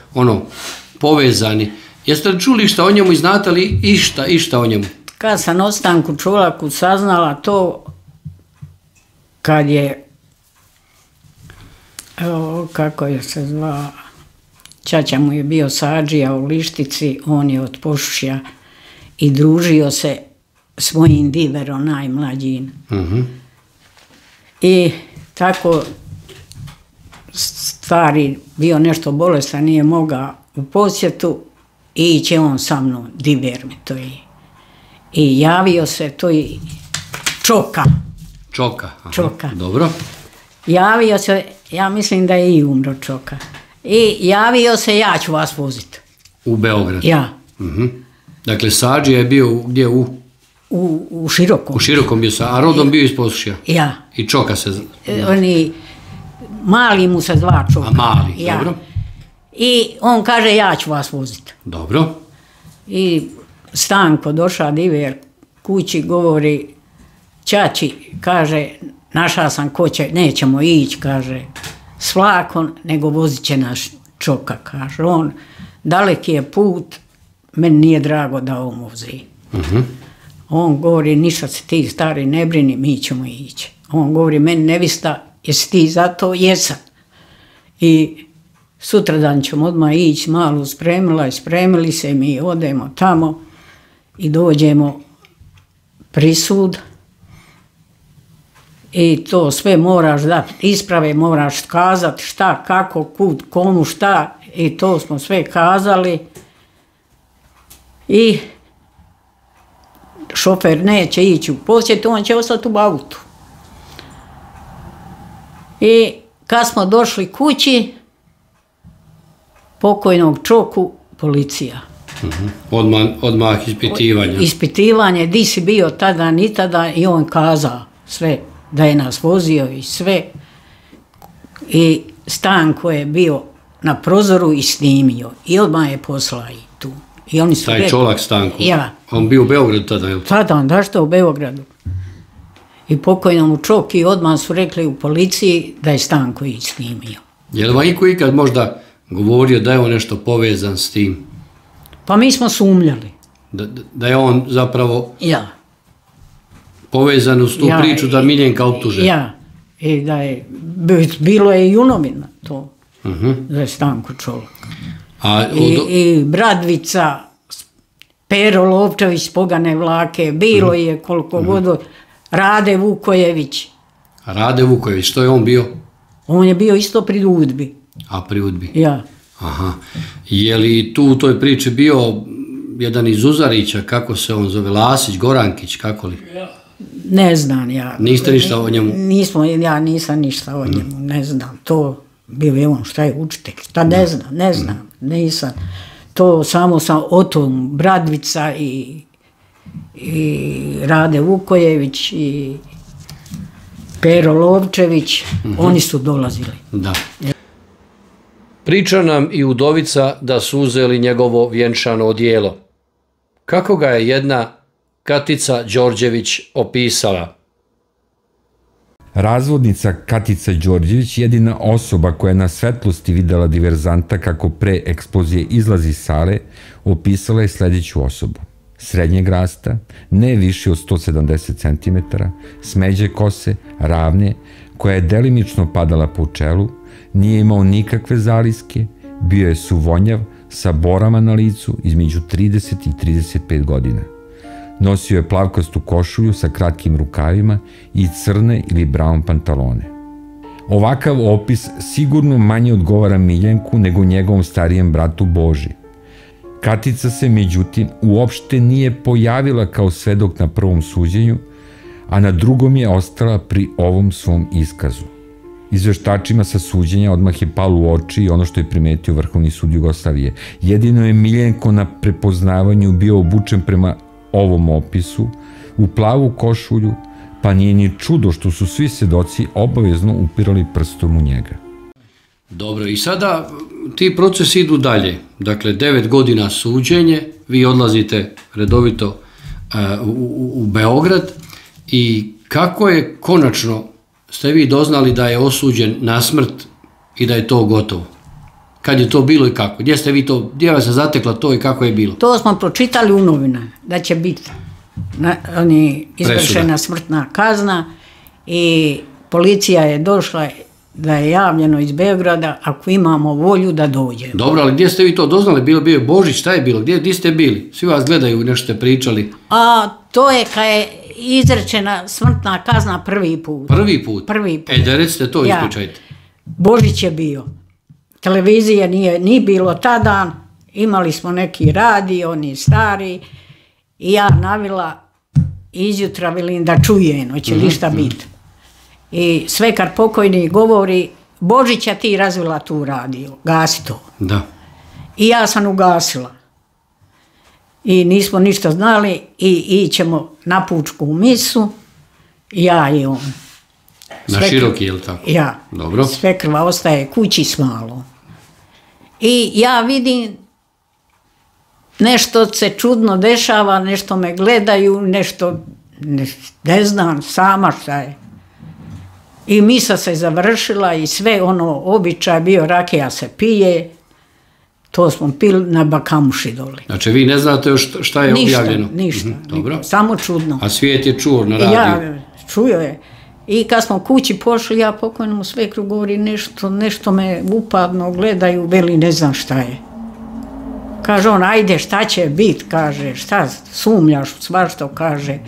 povezani. Jeste li čuli šta o njemu i znate li išta o njemu? Kad sam o Stanku Čolaku saznala to, kad je, kako je se zvao, ćaća mu je bio sadžija u Lištici, on je od Pošušja i družio se s mojim diverom najmlađim. I tako stari bio nešto bolestan, nije mogao u posjetu i iće on sa mnom, diver mi to je. I javio se, to je Čoka. Čoka. Dobro. Javio se, ja mislim da je i umro Čoka. I javio se, ja ću vas voziti. U Beograd? Ja. Dakle, sadžija je bio gdje u Širokom. U Širokom bio a rodom bio iz Posušja? Ja. I Čoka se... Oni, mali mu se zva Čoka. A mali, dobro. I on kaže, ja ću vas voziti. Dobro. I Stanko došao diver kući, govori, ćaći, kaže, našao sam ko će, nećemo ići, kaže, s vlakom, nego vozit će naš Čoka, kaže on. Daleki je put, meni nije drago da on vozi. On govori, ništa se ti stari ne brini, mi ćemo ići. On govori, meni nevista, jesi ti za to? Jesam. I sutradan ćemo odmah ići, malu spremila i spremili se, mi odemo tamo i dođemo prisud. I to sve moraš dati, isprave moraš kazati šta, kako, kud, komu, šta. I to smo sve kazali. I šofer neće ići u posjetu, on će ostati u autu. I kad smo došli kući, pokojnog Čoku, policija. Odmah ispitivanje. Ispitivanje, di si bio tada, ni tada, i on kazao sve, da je nas vozio i sve. I Stanko je bio na prozoru i snimio. I odmah je poslao i tu. I oni su taj Čolak Stanko? Ja. On bio u Beogradu tada, je li? Tada, da što u Beogradu. I pokojnom Čoki odmah su rekli u policiji da je Stanko i snimio. Je li vam ikad možda govorio da je on nešto povezan s tim? Pa mi smo sumnjali. Da je on zapravo povezan uz tu priču da Miljenka optuže? Ja. I da je, bilo je i u to, za Stanku Čolak. A I Bradvica, Pero Lovčević, Pogane Vlake, bilo je koliko god, Rade Vukojević. Rade Vukojević, što je on bio? On je bio isto pri UDBI. A pri UDBI? Ja. Aha. Je li tu u toj priči bio jedan iz Uzarića, kako se on zove, Lasić, Gorankić, kako li? Ne znam ja. Niste ništa o njemu? Ja nisam ništa o njemu, ne znam. To bio je on, šta je učitelj, šta ne znam, nisam. To samo sam o tom Bradvica i Rade Vukojević i Pero Lovčević, oni su dolazili. Da. Priča nam i udovica da su uzeli njegovo vjenčano odijelo. Kako ga je jedna Katica Đorđević opisala? Razvodnica Katica Đorđević, jedina osoba koja je na svetlosti videla diverzanta kako pre eksplozije izlazi iz sale, opisala je sledeću osobu. Srednjeg rasta, ne viši od 170 cm, smeđe kose, ravne, koja je delimično padala po čelu, nije imao nikakve zaliske, bio je suvonjav, sa borama na licu između 30 i 35 godina. Nosio je plavkastu košulju sa kratkim rukavima i crne ili brown pantalone. Ovakav opis sigurno manje odgovara Miljenku nego njegovom starijem bratu Boži. Katica se, međutim, uopšte nije pojavila kao svedok na prvom suđenju, a na drugom je ostala pri ovom svom iskazu. Izveštačima sa suđenja odmah je palo u oči i ono što je primetio Vrhovni sud Jugoslavije. Jedino je Miljenko na prepoznavanju bio obučen prema ovom opisu, u plavu košulju, pa nije ni čudo što su svi svedoci obavezno upirali prstom u njega. Dobro, i sada ti procesi idu dalje. Dakle, 9 godina suđenje, vi odlazite redovito u Beograd i kako je konačno ste vi doznali da je osuđen na smrt i da je to gotovo? Kad je to bilo i kako? Gdje ste vi to, gdje vas je zatekla to i kako je bilo? To smo pročitali u novinama, da će biti izvršena smrtna kazna i policija je došla da je javljeno iz Beograda ako imamo volju da dođe. Dobro, ali gdje ste vi to doznali? Bio je Božić, šta je bilo? Gdje ste bili? Svi vas gledaju, nešto ste pričali. A to je kad je izrečena smrtna kazna prvi put. Prvi put? Prvi put. Da recite to, ispričajte. Božić je bio. Televizije nije bilo tada, imali smo neki radio, oni stari, i ja navila izjutra, velim da čujem, hoće li šta biti. I sve kad pokojni govori, Božića ti razvila tu radio, gasi to. Da. I ja sam ugasila. I nismo ništa znali i ićemo na pučku misu, ja i on. Na široki, je li tako? Ja. Dobro. Sve krva ostaje kući s malo. I ja vidim nešto se čudno dešava, nešto me gledaju, nešto, ne znam sama šta je. I misa se završila i sve ono običaj bio, rakija se pije, to smo pili na Bakamuši doli. Znači vi ne znate još šta je objavljeno? Ništa, dobro. Samo čudno. A svijet je čuo na radiju? Ja, čuo je. I kad smo kući pošli, ja pokojnom svekru govori nešto me upadno gledaju, veli ne znam šta je. Kaže on, ajde šta će bit, kaže, šta sumnjaš, svašto, kaže,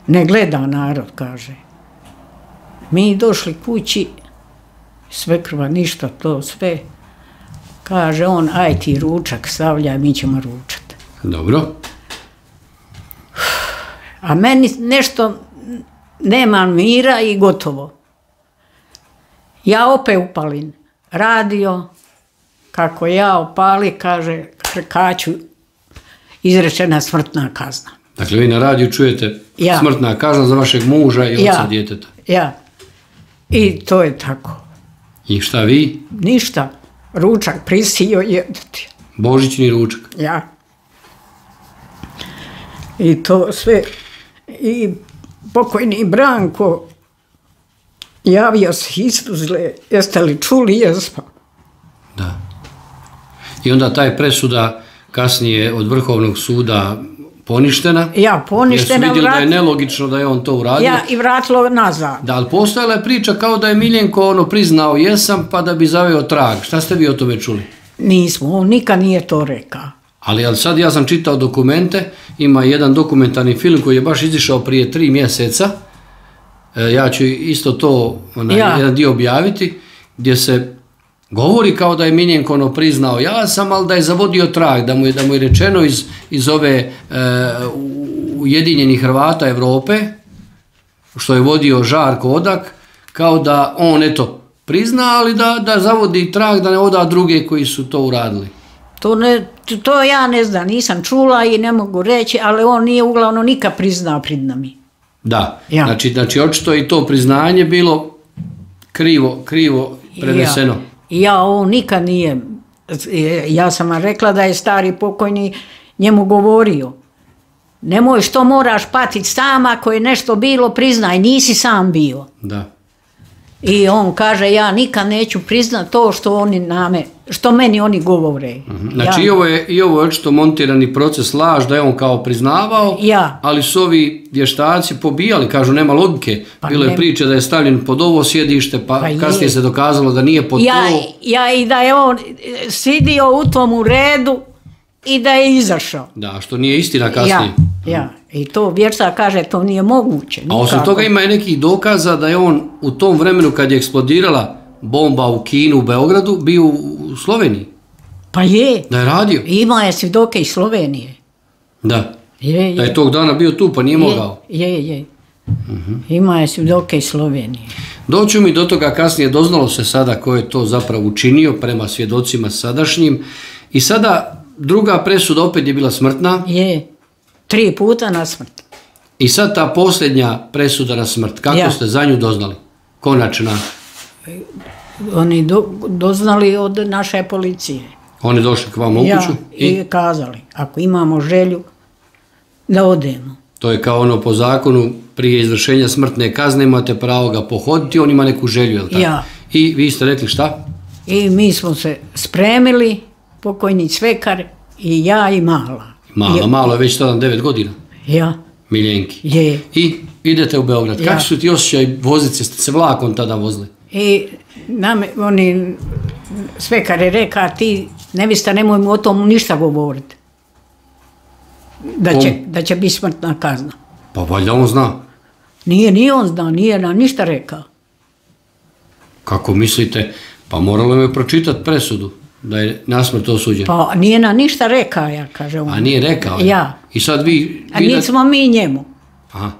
ne gleda narod, kaže. Mi došli kući, svekrva, ništa, to sve. Kaže on, aj ti ručak stavljaj, mi ćemo ručati. Dobro. A meni nešto nema mira i gotovo. Ja opet upalim radio, kako ja opali, kaže, Hrkaću, izrečena smrtna kazna. Dakle, vi na radiju čujete smrtna kazna za vašeg muža i oca djeteta. Ja. I to je tako. I šta vi? Ništa. Ručak prisio jedati. Božićni ručak? Ja. I to sve. I pokojni Branko javio se iz Tuzle. Jeste li čuli? Jesmo. Da. I onda taj presuda kasnije od Vrhovnog suda poništena. Ja, poništena. Jer su vidjeli da je nelogično da je on to uradio. Ja, i vratilo nazad. Da, ali postojala je priča kao da je Miljenko priznao jesam pa da bi zaveo trag. Šta ste vi o tome čuli? Nismo, on nikad nije to rekao. Ali sad ja sam čitao dokumente, ima jedan dokumentarni film koji je baš izišao prije 3 mjeseca. Ja ću isto to jedan dio objaviti, gdje se govori kao da je Miljenko priznao ja sam, ali da je zavodio trag, da mu je rečeno iz ove Ujedinjenih Hrvata Europe, što je vodio Žarko Odak, kao da on prizna, ali da zavodi trag, da ne oda druge koji su to uradili. To ja ne znam, nisam čula i ne mogu reći, ali on nije uglavnom nikad priznao pred nami. Da, znači očito je i to priznanje bilo krivo preneseno. On nikad nije, ja sam vam rekla da je stari pokojni njemu govorio, nemoj što moraš patiti sam, ako je nešto bilo priznaj, nisi sam bio. Da. I on kaže ja nikad neću priznat to što meni oni govore. Znači i ovo je očito montirani proces laž, da je on kao priznavao, ali su ovi vještaci pobijali, kažu nema logike. Bilo je priče da je stavljen pod ovo sjedište, pa kasnije se dokazalo da nije pod to. I da je on sidio u tom redu i da je izašao. Da, što nije istina kasnije. I to vještak kaže to nije moguće. A osim toga ima i nekih dokaza da je on u tom vremenu kad je eksplodirala bomba u Kinu, u Beogradu, bio u Sloveniji. Pa je. Da je radio. Ima je svjedoke iz Slovenije. Da. Da je tog dana bio tu pa nije mogao. Je. Ima je svjedoke iz Slovenije. Doću mi do toga kasnije, doznalo se sada ko je to zapravo učinio prema svjedocima sadašnjim. I sada druga presuda opet je bila smrtna. Je. 3 puta na smrt. I sad ta posljednja presuda na smrt, kako ste za nju doznali? Konačna? Oni doznali od naše policije. Oni došli k vam u kuću? I kazali, ako imamo želju, da odemo. To je kao po zakonu, prije izvršenja smrtne kazne imate pravo ga pohoditi, on ima neku želju, je li tako? I vi ste rekli šta? I mi smo se spremili, pokojni Cvekar i ja i Mala. Malo je već tada 9 godina. Miljenki. I idete u Beograd. Kakvi su ti osjećaj voziti se? Ste se vlakom tada vozili? I Cvekar je rekao, ti nevista nemoj mu o tom ništa govoriti. Da će biti smrtna kazna. Pa valjda on zna. Nije on znao, nije nam ništa rekao. Kako mislite? Pa moralo je pročitati presudu. Da je nasmrt osuđen. Pa nije nam ništa rekao, ja kažem. A nije rekao? I sad vi... A nismo mi njemu. Aha.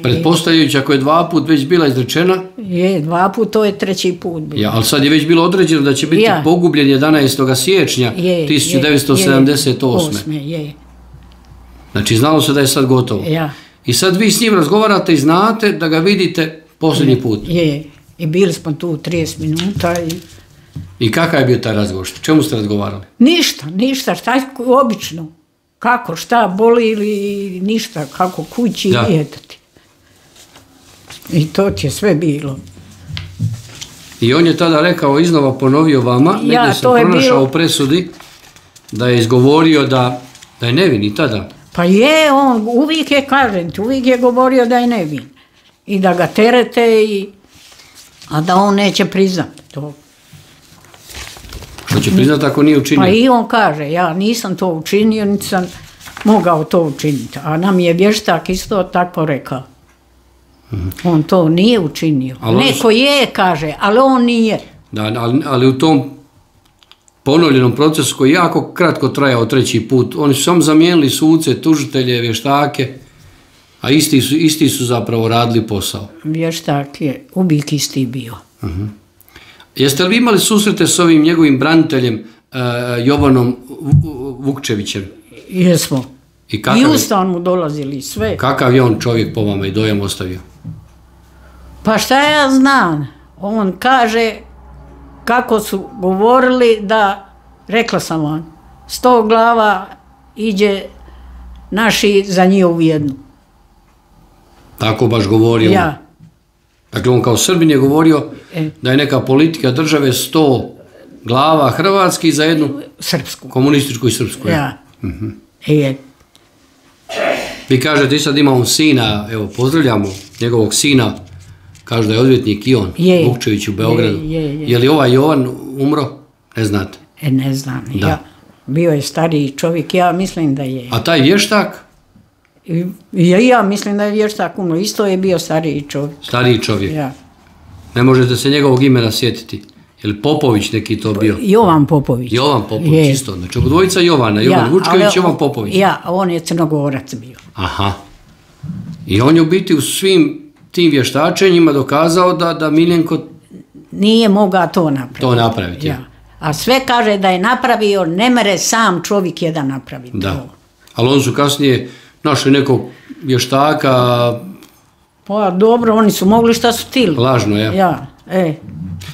Pretpostavljajući ako je 2 put već bila izrečena? Je, 2 put, to je 3. put. Ali sad je već bilo određeno da će biti pogubljen 11. siječnja 1978. Znači znalo se da je sad gotovo. I sad vi s njim razgovarate i znate da ga vidite posljednji put. I bili smo tu 30 minuta I kakav je bio taj razgovor? Čemu ste razgovarali? Ništa, šta obično. Kako, šta, boli ili ništa, kako kući i djeteti. I to ti je sve bilo. I on je tada rekao, iznova ponovio vama, negdje sam pronašao u presudi, da je izgovorio da je nevin i tada. Pa je, on uvijek je, kažem ti, uvijek je govorio da je nevin. I da ga terete, a da on neće priznati to. Što će priznati ako nije učinio? Pa i on kaže, ja nisam to učinio, niti sam mogao to učiniti. A nam je vještak isto tako rekao. On to nije učinio. Neko je, kaže, ali on nije. Da, ali u tom ponovljenom procesu koji je jako kratko trajao 3. put, oni su samo zamijenili suce, tužitelje, vještake, a isti su zapravo radili posao. Vještak je uvijek isti bio. Jeste li vi imali susrete s ovim njegovim braniteljem Jovanom Vukčevićem? Jesmo. I u stan mu dolazili sve. Kakav je on čovjek po vama i dojam ostavio? Pa šta ja znam? On kaže kako su govorili da, rekla sam vam, 100 glava iđe naši za njihovu jednu. Tako baš govorio? Ja. Dakle, on kao Srbin je govorio da je neka politika države 100 glava hrvatski za jednu srpsku. Komunističku i srpsku. Ja. Vi kažete i sad imamo sina, evo pozdravljamo njegovog sina, kaže da je odvjetnik i on, Vukčević u Beogradu. Je li ovaj Jovan umro? Ne znate? Ne znam, bio je stariji čovjek, ja mislim da je. A taj vještak? Ja mislim da je vještak umro, isto je bio stariji čovjek. Stariji čovjek? Ne možete se njegovog imena sjetiti? Je li Popović neki to bio? Jovan Popović. Jovan Popović, isto. Znači, dvojica Jovana, Jovan Vučković, Jovan Popović. On je Crnogorac bio. Aha. I on je u biti u svim tim vještačenjima dokazao da Miljenko nije mogao to napraviti. To napraviti. A sve kaže da je napravio, ne mere sam čovjek jedan napraviti. Da. Ali on su kasnije našli nekog vještaka. Pa dobro, oni su mogli šta su htjeli. Lažno,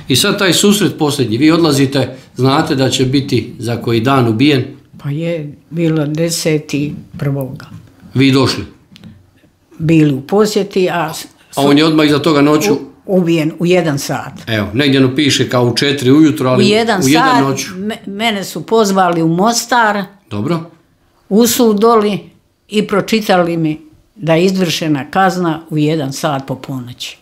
I sad taj susret posljednji, vi odlazite, znate da će biti za koji dan ubijen? Pa je, bilo 10.1. Vi došli? Bili u posjeti, a on je odmah iza toga noću? Ubijen u 1 sat. Evo, negdje piše kao u 4 ujutro, ali u 1 noću. Mene su pozvali u Mostar. Dobro. U sud doli i pročitali mi da je izvršena kazna u 1 sat po ponoći.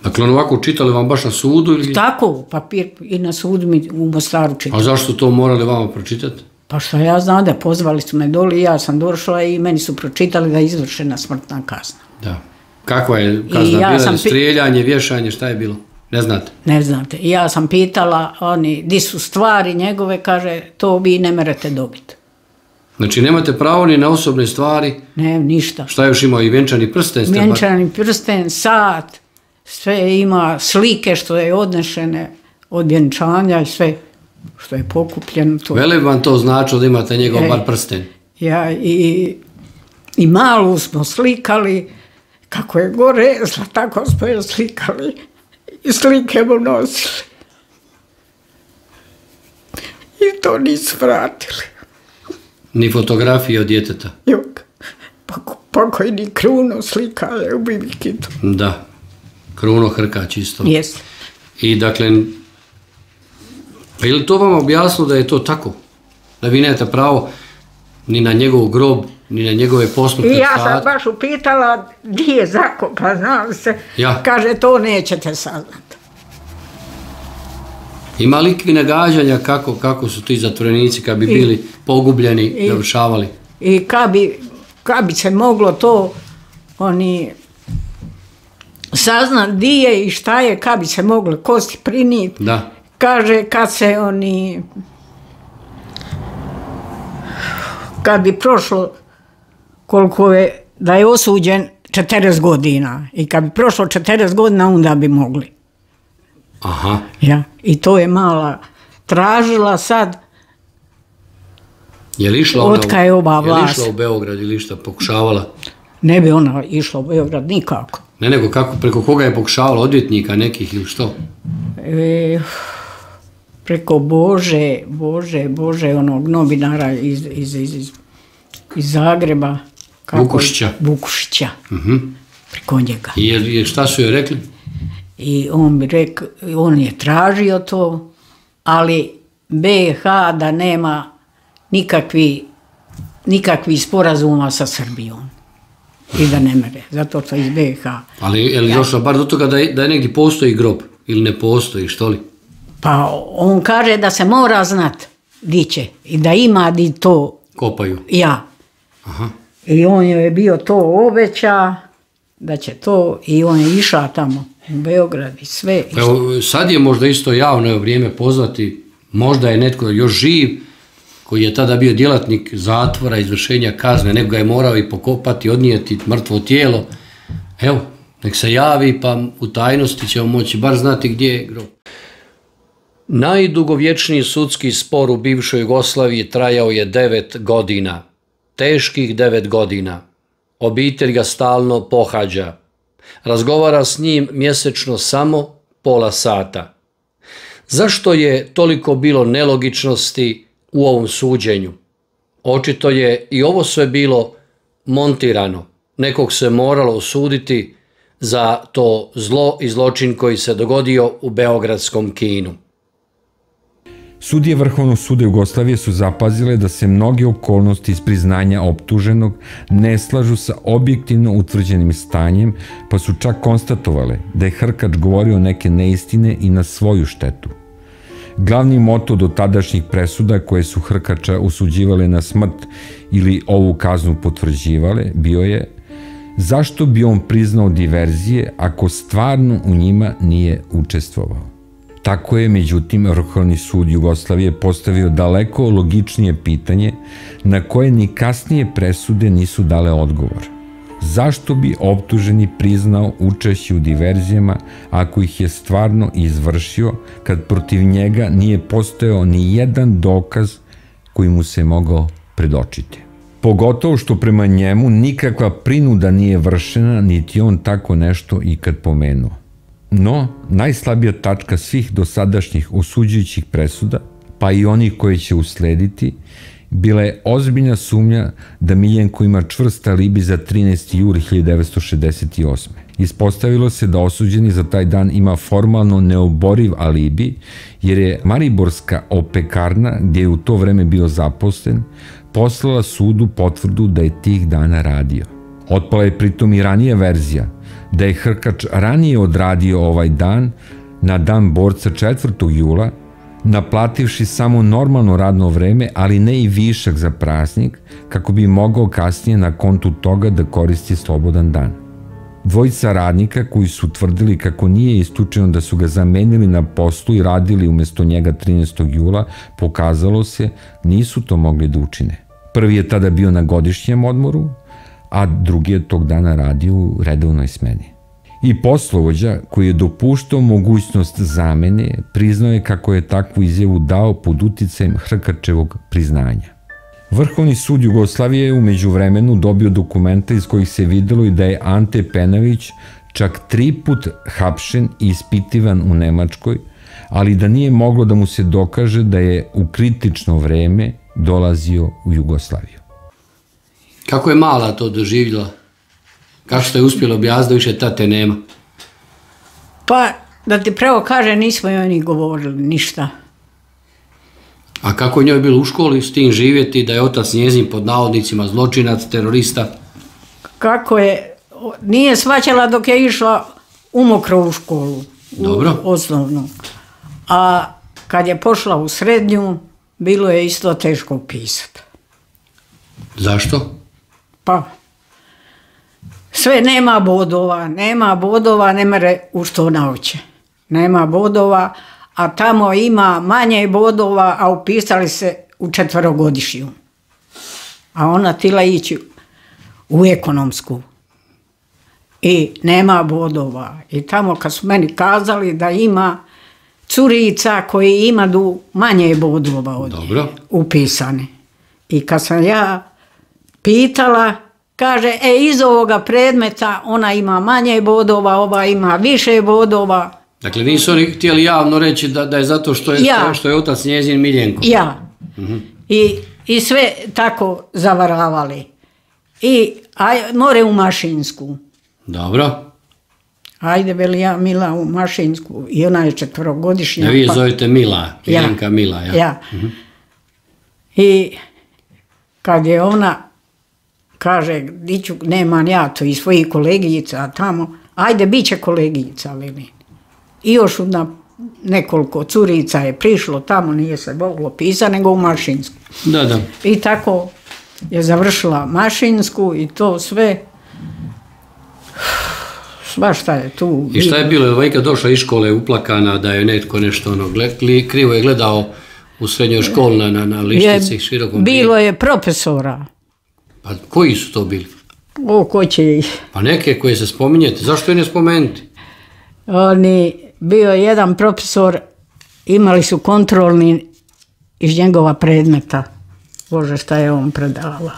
Dakle, on ovako čitali vam baš na sudu? Tako, papir i na sudu mi u Mostaru čitali. A zašto to morali vama pročitati? Pa što ja znam da pozvali su me doli i ja sam došla i meni su pročitali da je izvršena smrtna kazna. Da. Kakva je kazna bila? Strijeljanje, vješanje, šta je bilo? Ne znate? Ne znate. I ja sam pitala, di su stvari njegove, kaže, to vi ne merete dobiti. Znači, nemate pravo ni na osobne stvari? Ne, ništa. Šta je još imao? I vjenčani prsten? Vjenčani prsten, sat, sve ima slike što je odnešene od vjenčanja i sve što je pokupljeno. Vele vam to značilo da imate njegov bar prsten? Ja i malu smo slikali, kako je gore, tako smo je slikali i slike mu nosili. I to nisu vratili. Ni fotografije od djeteta? Jok, pokojni Kruno slika je u Bibikitu. Da, Kruno Hrkać isto. Jes. I dakle, pa je li to vam objasnilo da je to tako? Da vi nemate pravo ni na njegov grob, ni na njegove posmrtne state? I ja sam baš upitala gdje je zakopan, znam se. Kaže, to nećete saznati. Ima li nagađanja kako su ti zatvorenici kad bi bili pogubljeni, završavali? I kad bi se moglo to saznat di je i šta je, kad bi se moglo kosti priniti. Da. Kaže, kad bi prošlo koliko je, da je osuđen 40 godina i kad bi prošlo 40 godina, onda bi mogli. Aha. I to je mala tražila sad. Je li išla u Beograd ili išta pokušavala? Ne bi ona išla u Beograd nikako. Ne, nego preko koga je pokušavala, odvjetnika nekih ili što? Preko Bože, onog novinara iz Zagreba. Vukušića. Preko njega. I šta su joj rekli? I on je tražio to, ali BiH da nema nikakvih sporazuma sa Srbijom. I da ne mere, zato to iz BiH. Ali je li došlo bar do toga da je negdje postoji grob ili ne postoji, što li? Pa on kaže da se mora znat di će i da ima di to kopaju. Ja. I on je bio to obeća da će to i on je išao tamo u Beograd i sve. Evo, sad je možda isto javno vrijeme pozvati, možda je netko još živ koji je tada bio djelatnik zatvora, izvršenja kazne, nego ga je morao i pokopati, odnijeti mrtvo tijelo. Evo, nek se javi pa u tajnosti ćemo moći bar znati gdje je grob. Najdugovječniji sudski spor u bivšoj Jugoslaviji trajao je 9 godina. Teških 9 godina. Obitelj ga stalno pohađa. Razgovara s njim mjesečno samo pola sata. Zašto je toliko bilo nelogičnosti u ovom suđenju? Očito je i ovo sve bilo montirano. Nekog se moralo osuditi za to zlo i zločin koji se dogodio u beogradskom kinu. Sudije Vrhovnog suda Jugoslavije su zapazile da se mnoge okolnosti iz priznanja optuženog ne slažu sa objektivno utvrđenim stanjem, pa su čak konstatovale da je Hrkač govorio neke neistine i na svoju štetu. Glavni moto do tadašnjih presuda koje su Hrkača osuđivale na smrt ili ovu kaznu potvrđivale bio je: zašto bi on priznao diverzije ako stvarno u njima nije učestvovao? Tako je, međutim, Vrhovni sud Jugoslavije postavio daleko logičnije pitanje na koje ni kasnije presude nisu dale odgovor. Zašto bi optuženi priznao učešće u diverzijama ako ih je stvarno izvršio, kad protiv njega nije postojao ni jedan dokaz koji mu se mogao predočiti? Pogotovo što prema njemu nikakva prinuda nije vršena, niti on tako nešto ikad pomenuo. No, najslabija tačka svih dosadašnjih osuđujućih presuda, pa i onih koje će uslediti, bila je ozbiljna sumnja da Miljenko ima čvrst alibi za 13. jul 1968. Ispostavilo se da osuđeni za taj dan ima formalno neoboriv alibi, jer je mariborska opekarna, gdje je u to vreme bio zaposlen, poslala sudu potvrdu da je tih dana radio. Otpala je pritom i ranija verzija, da je Hrkač ranije odradio ovaj dan, na dan borca 4. jula, naplativši samo normalno radno vreme, ali ne i višak za praznik, kako bi mogao kasnije na kontu toga da koristi slobodan dan. Dvojica radnika koji su tvrdili kako nije isključeno da su ga zamenili na poslu i radili umesto njega 13. jula, pokazalo se nisu to mogli da učine. Prvi je tada bio na godišnjem odmoru, a drugi je tog dana radio u redovnoj smeni. I poslovođa, koji je dopuštao mogućnost zamene, priznao je kako je takvu izjavu dao pod uticajem Hrkačevog priznanja. Vrhovni sud Jugoslavije je u međuvremenu dobio dokumenta iz kojih se videlo i da je Ante Penavić čak 3 put hapšen i ispitivan u Nemačkoj, ali da nije moglo da mu se dokaže da je u kritično vreme dolazio u Jugoslaviju. Kako je mala to doživjela? Kako ste uspjeli objasniti da više tate nema? Pa, da ti pravo kaže, nismo joj ni govorili ništa. A kako je njoj bilo u školi s tim živjeti, da je otac njezin pod navodnicima zločinac, terorista? Kako je, nije shvaćala dok je išla umokro u školu. Dobro. U osnovnu. A kad je pošla u srednju, bilo je isto teško pisati. Zašto? Pa, sve nema bodova, ne mere u što nauče. Nema bodova, a tamo ima manje bodova, a upisali se u 4-godišnju. A ona tila ići u ekonomsku. I nema bodova. I tamo kad su meni kazali da ima curica koji imaju manje bodova od nje upisane. I kad sam ja pitala, kaže, iz ovoga predmeta ona ima manje bodova, ova ima više bodova. Dakle, nisu oni htjeli javno reći da je zato što je otac njezin Miljenko. Ja. I sve tako zavaravali. I more u Mašinsku. Dobro. Ajde, veli ja Mila u Mašinsku. I ona je 4-godišnja. Vi zovete Mila, Miljenka Mila. Ja. I kad je ona kaže, nemam ja to i svojih kolegica tamo, ajde, bit će kolegica, veli. I još nekoliko curica je prišlo tamo, nije se moglo pisati, nego u Mašinsku. Da. I tako je završila Mašinsku i to sve. Svašta je tu. I šta je bilo? Je Vojka došla iz škole uplakana da je netko nešto krivo je gledao u srednjoj školi na lištici širokom. Bilo je profesora. Pa koji su to bili? Ko će ih? Pa neke koje se spominjete. Zašto je ne spomenuti? Bio je jedan profesor, imali su kontrolni iz njegova predmeta. Bože, šta je on predavala.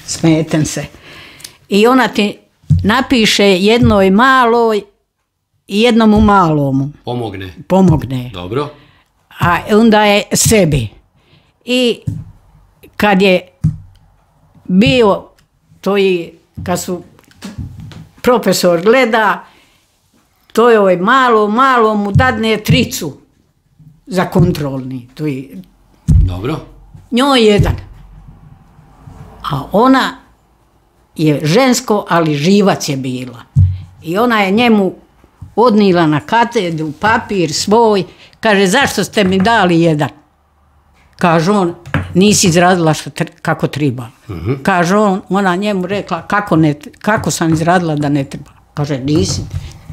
Smetem se. I ona ti napiše jednoj maloj i jednomu malomu. Pomogne. Dobro. A onda je sebi. I kad je bio to i kad su profesor gleda, to je malo mu dadne 3 za kontrolni. Dobro. Njoj jedan. A ona je žensko, ali živac je bila. I ona je njemu odnila na katedru papir svoj, kaže, zašto ste mi dali jedan? Kaže on, nisi izradila kako treba. Kaže ona njemu rekla, kako sam izradila da ne treba? Kaže, nisi,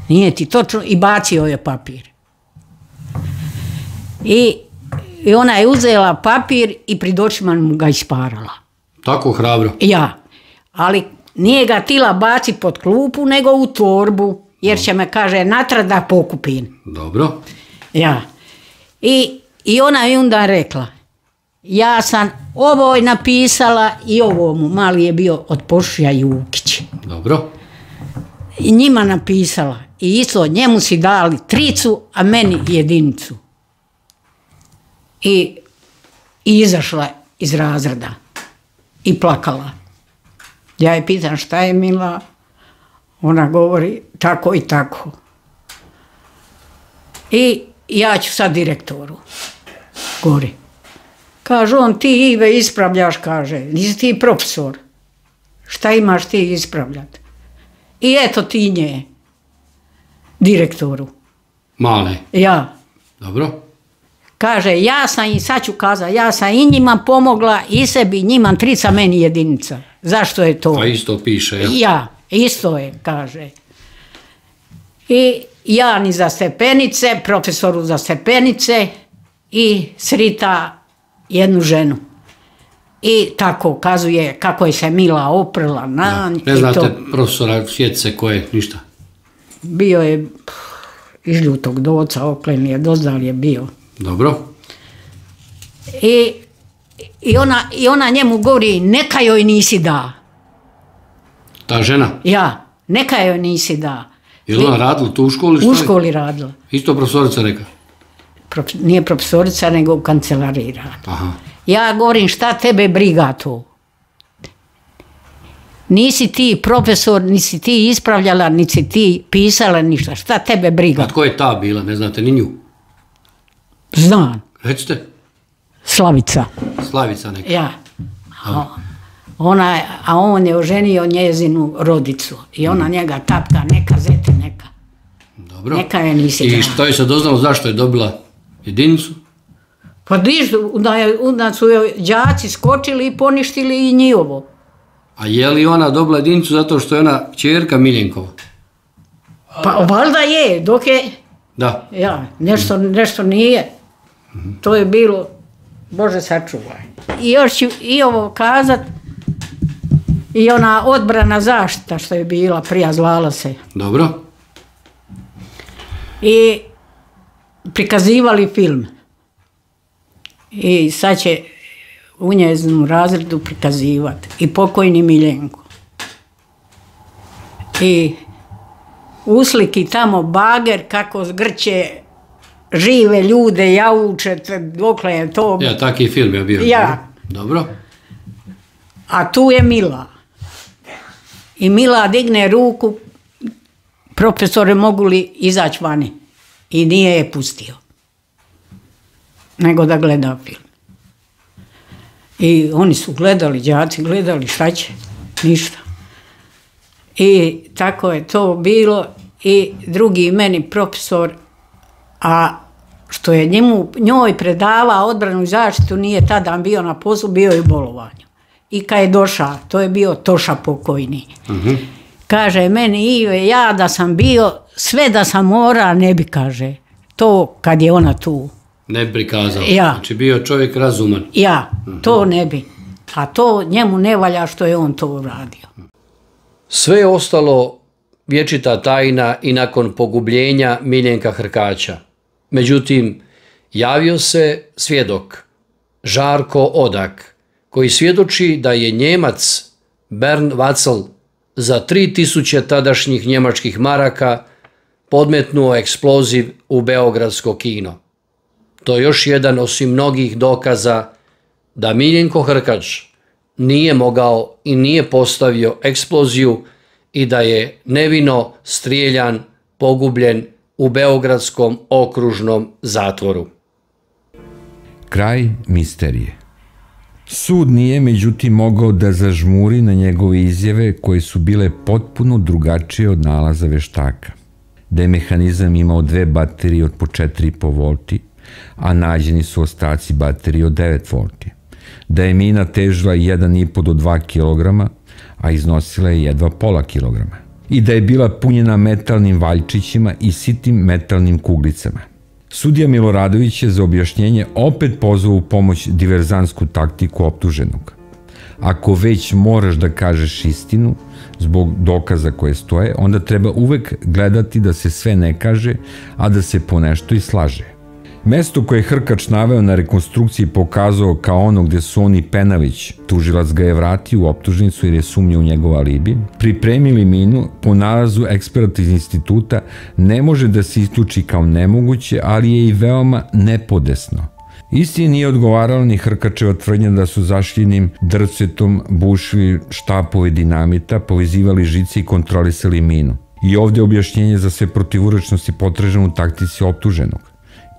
nije ti točno, i bacio je papir. I ona je uzela papir i pred očima mu ga isparala. Tako hrabro? Ja, ali nije ga tila baci pod klupu, nego u torbu, jer će me, kaže, natrag da pokupim. Dobro. Ja. I ona je onda rekla, ja sam ovoj napisala i ovomu, mali je bio od Pošija Jukić. Dobro. I njima napisala. I isto, njemu si dali 3, a meni 1. I izašla iz razreda i plakala. Ja je pitam šta je Mila, ona govori tako i tako. I ja ću sad direktoru. Govori. Kaže on, ti Ive ispravljaš, kaže, nisi ti profesor. Šta imaš ti ispravljati? I eto ti nje, direktoru. Male? Ja. Dobro. Kaže, ja sam i sad ću kazati, ja sam i njima pomogla, i sebi, njima 3, meni 1. Zašto je to? Pa isto piše, jel? Ja, isto je, kaže. I ja ni za stepenice, profesoru za stepenice i srita jednu ženu. I tako kazuje kako je se Mila oprla na nj. Ne znate profesora Sjetice koje, ništa? Bio je iz Ljutog Doca, Oklen je, dozdal je bio. Dobro. I ona njemu govori, neka joj nisi da. Ta žena? Ja, neka joj nisi da. Je li ona radila tu u školi? U školi radila. Isto profesorica neka? Nije profesorica, nego u kancelariji radila. Aha. Ja govorim, šta tebe briga to? Nisi ti profesor, nisi ti ispravljala, nisi ti pisala ništa. Šta tebe briga? A tko je ta bila, ne znate ni nju? Znam. Recite. Slavica. Slavica neka. Ja. A on je oženio njezinu rodicu. I ona njega tapka, neka zeti, neka. Dobro. Neka je nisi da. I što je se doznalo zašto je dobila 1? Pa onda su joj đaci skočili i poništili i njihovo. A je li ona dobila 1 zato što je ona kćerka Miljenkova? Pa valjda je, dok je... Da. Ja, nešto nije. To je bilo, Bože sačuvaj. I još ću i ovo kazat, i ona odbrana zaštita što je bila, prija zvala se. Dobro. I prikazivali film. I sad će u njezinu razredu prikazivati. I pokojni Miljenko. I usliki tamo bager kako zgrće žive ljude, jauče, dokle je to... Ja, taki film je bio. Ja. Dobro. A tu je Mila. I Mila digne ruku, profesore, mogu li izaći vani? I nije je pustio. Nego da gleda film. I oni su gledali, đaci gledali, šta će? Ništa. I tako je to bilo. I drugi meni profesor, a što je njoj predavao odbranu i zaštitu, nije tada bio na poslu, bio je u bolovanju. I kad je došao, to je bio Toša pokojni. Kaže meni, Ive, ja da sam bio, sve da sam mora, ne bi, kaže, to kad je ona tu. Ne bi prikazao. Ja. Znači bio čovjek razuman. Ja, to ne bi. A to njemu ne valja što je on to uradio. Sve je ostalo vječita tajna i nakon pogubljenja Miljenka Hrkaća. Međutim, javio se svjedok, Žarko Odak, koji svjedoči da je Njemac Bernd Wacel za 3000 tadašnjih njemačkih maraka podmetnuo eksploziv u beogradsko kino. To je još jedan osim mnogih dokaza da Miljenko Hrkač nije mogao i nije postavio eksploziju i da je nevino strijeljan, pogubljen u beogradskom okružnom zatvoru. Kraj misterije. Sud nije, međutim, mogao da zažmuri na njegove izjave koje su bile potpuno drugačije od nalaza veštaka. Da je mehanizam imao 2 baterije od po 4,5 volti, a nađeni su ostaci baterije od 9 volti. Da je mina težila 1,5 do 2 kilograma, a iznosila je jedva pola kilograma. I da je bila punjena metalnim valjčićima i sitim metalnim kuglicama. Sudija Miloradović je za objašnjenje opet pozvao u pomoć diverzantsku taktiku optuženog. Ako već moraš da kažeš istinu, zbog dokaza koje stoje, onda treba uvek gledati da se sve ne kaže, a da se ponešto i slaže. Mesto koje je Hrkač naveo na rekonstrukciji pokazao kao ono gde su on i Penavić, tužilac ga je vratio u optužnicu jer je sumnjao u njegov alibi, pripremili minu, po nalazu eksperata iz instituta ne može da se isključi kao nemoguće, ali je i veoma nepodesno. Isti nije odgovarala ni Hrkačeva tvrdnja da su zašljenim drcetom bušili štapove dinamita, povezivali žice i kontrolisali minu. I ovde je objašnjenje za sve protivurečnosti potraženo u taktici optuženog.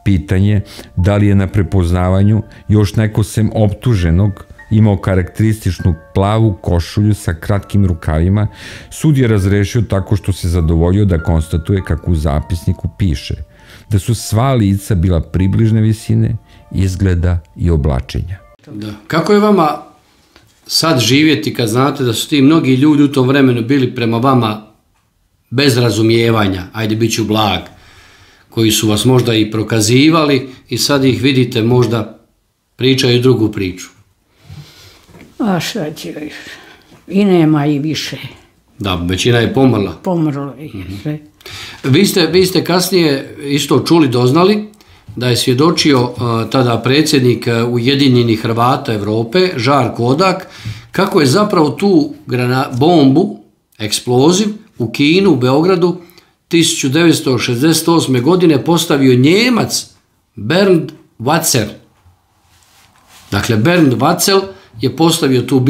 Pitanje da li je na prepoznavanju još neko sem optuženog imao karakterističnu plavu košulju sa kratkim rukavima, sud je razrešio tako što se zadovoljio da konstatuje kako u zapisniku piše da su sva lica bila približne visine, izgleda i oblačenja. Kako je vama sad živjeti kad znate da su ti mnogi ljudi u tom vremenu bili prema vama bez razumijevanja, ajde bit ću blag, koji su vas možda i prokazivali i sad ih vidite možda pričaju drugu priču? A šta će još? I nema i više. Da, većina je pomrla. Pomrlo je sve. Vi ste kasnije isto čuli, doznali da je svjedočio tada predsjednik Ujedinjenih Hrvata Evrope, Žarko Odak, kako je zapravo tu bombu, eksploziv u Kinu, u Beogradu, 1968. godine postavio Njemac Bernd Watzel. Dakle, Bernd Watzel je postavio tu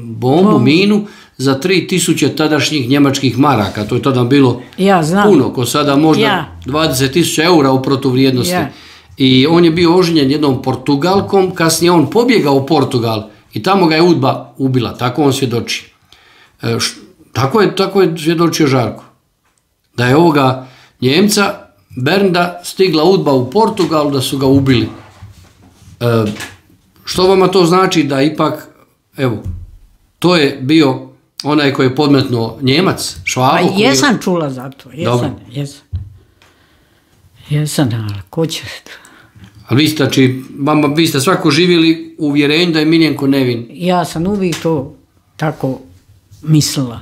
bombu, minu, za 3000 tadašnjih njemačkih maraka. To je tada bilo puno, ko sada možda 20.000 eura u protuvrijednosti. I on je bio oženjen jednom Portugalkom, kasnije on pobjegao u Portugal i tamo ga je UDBA ubila. Tako on svjedoči. Tako je svjedočio Žarko. Da je ovoga Njemca, Bernda, stigla UDBA u Portugalu, da su ga ubili. Što vama to znači da ipak, evo, to je bio onaj koji je podmetnuo Njemac, Švabo? Jesam čula za to, jesam, ali ko će to? Ali vi ste svako živjeli u uvjerenju da je Miljenko nevin? Ja sam uvijek to tako mislila.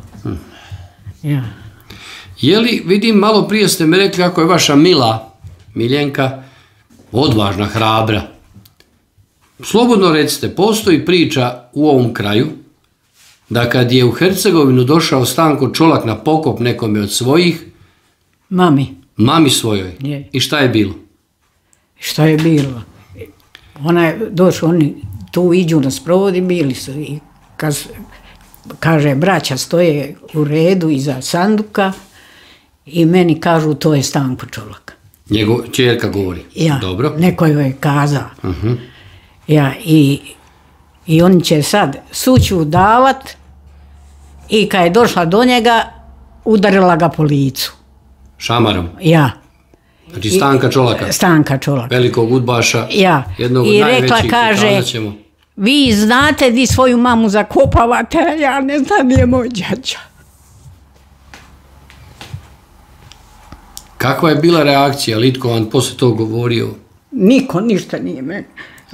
Je li, vidim, malo prije ste mi rekli kako je vaša Miljenka odvažna, hrabra. Slobodno recite, postoji priča u ovom kraju da kad je u Hercegovinu došao Stanko Čolak na pokop nekome od svojih... Mami svojoj. I šta je bilo? Šta je bilo? Ona je došla, oni tu iđu na sprovodi, bili su i kaže, braća stoje u redu iza sanduka i meni kažu to je Stanko Čolak. Njegov čerka govori? Dobro. Neko joj je kazao. I oni će sad suću davat i kad je došla do njega, udarila ga po licu. Šamarom? Znači Stanka Čolaka? Stanka Čolaka. Velikog udbaša, jednog od najvećih, kaže, vi znate di svoju mamu zakopavate, a ja ne znam, je moj đađa. Kakva je bila reakcija? Litko vam posle to govorio? Niko ništa nije meni.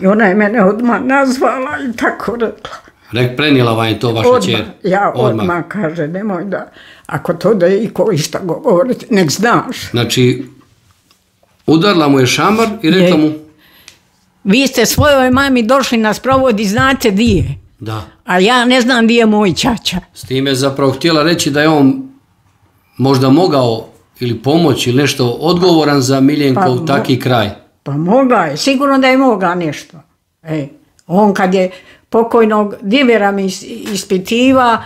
I ona je mene odmah nazvala i tako rekla. Prenijela vam je to vaša čer? Ja odmah kaže, nemoj da, ako to da je iko išta govoriti, nek znaš. Znači, udarla mu je šamar i rekla mu... Vi ste svojoj mami došli na sprovod i znate di je. Da. A ja ne znam di je moj ćaća. S time je zapravo htjela reći da je on možda mogao ili pomoći ili nešto odgovoran za Miljenkov taki kraj. Pa mogla je, sigurno da je mogla nešto. On kad je pokojnog Divera mi ispitiva,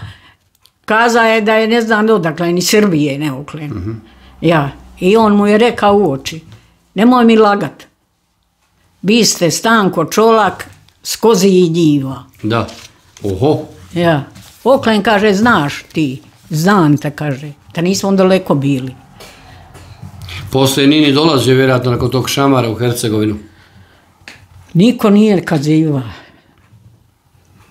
kaza je da je ne znam odakle, ni Srbije neuklen. I on mu je rekao u oči, nemoj mi lagat. vi ste Stanko Čolak s Kozijih njiva. Da. Oho. Ja. Oklen kaže, znaš ti, znam te, kaže, da nismo daleko bili. Poslije Nini dolazio vjerojatno nakon tog šamara u Hercegovinu. Niko nije kaziva.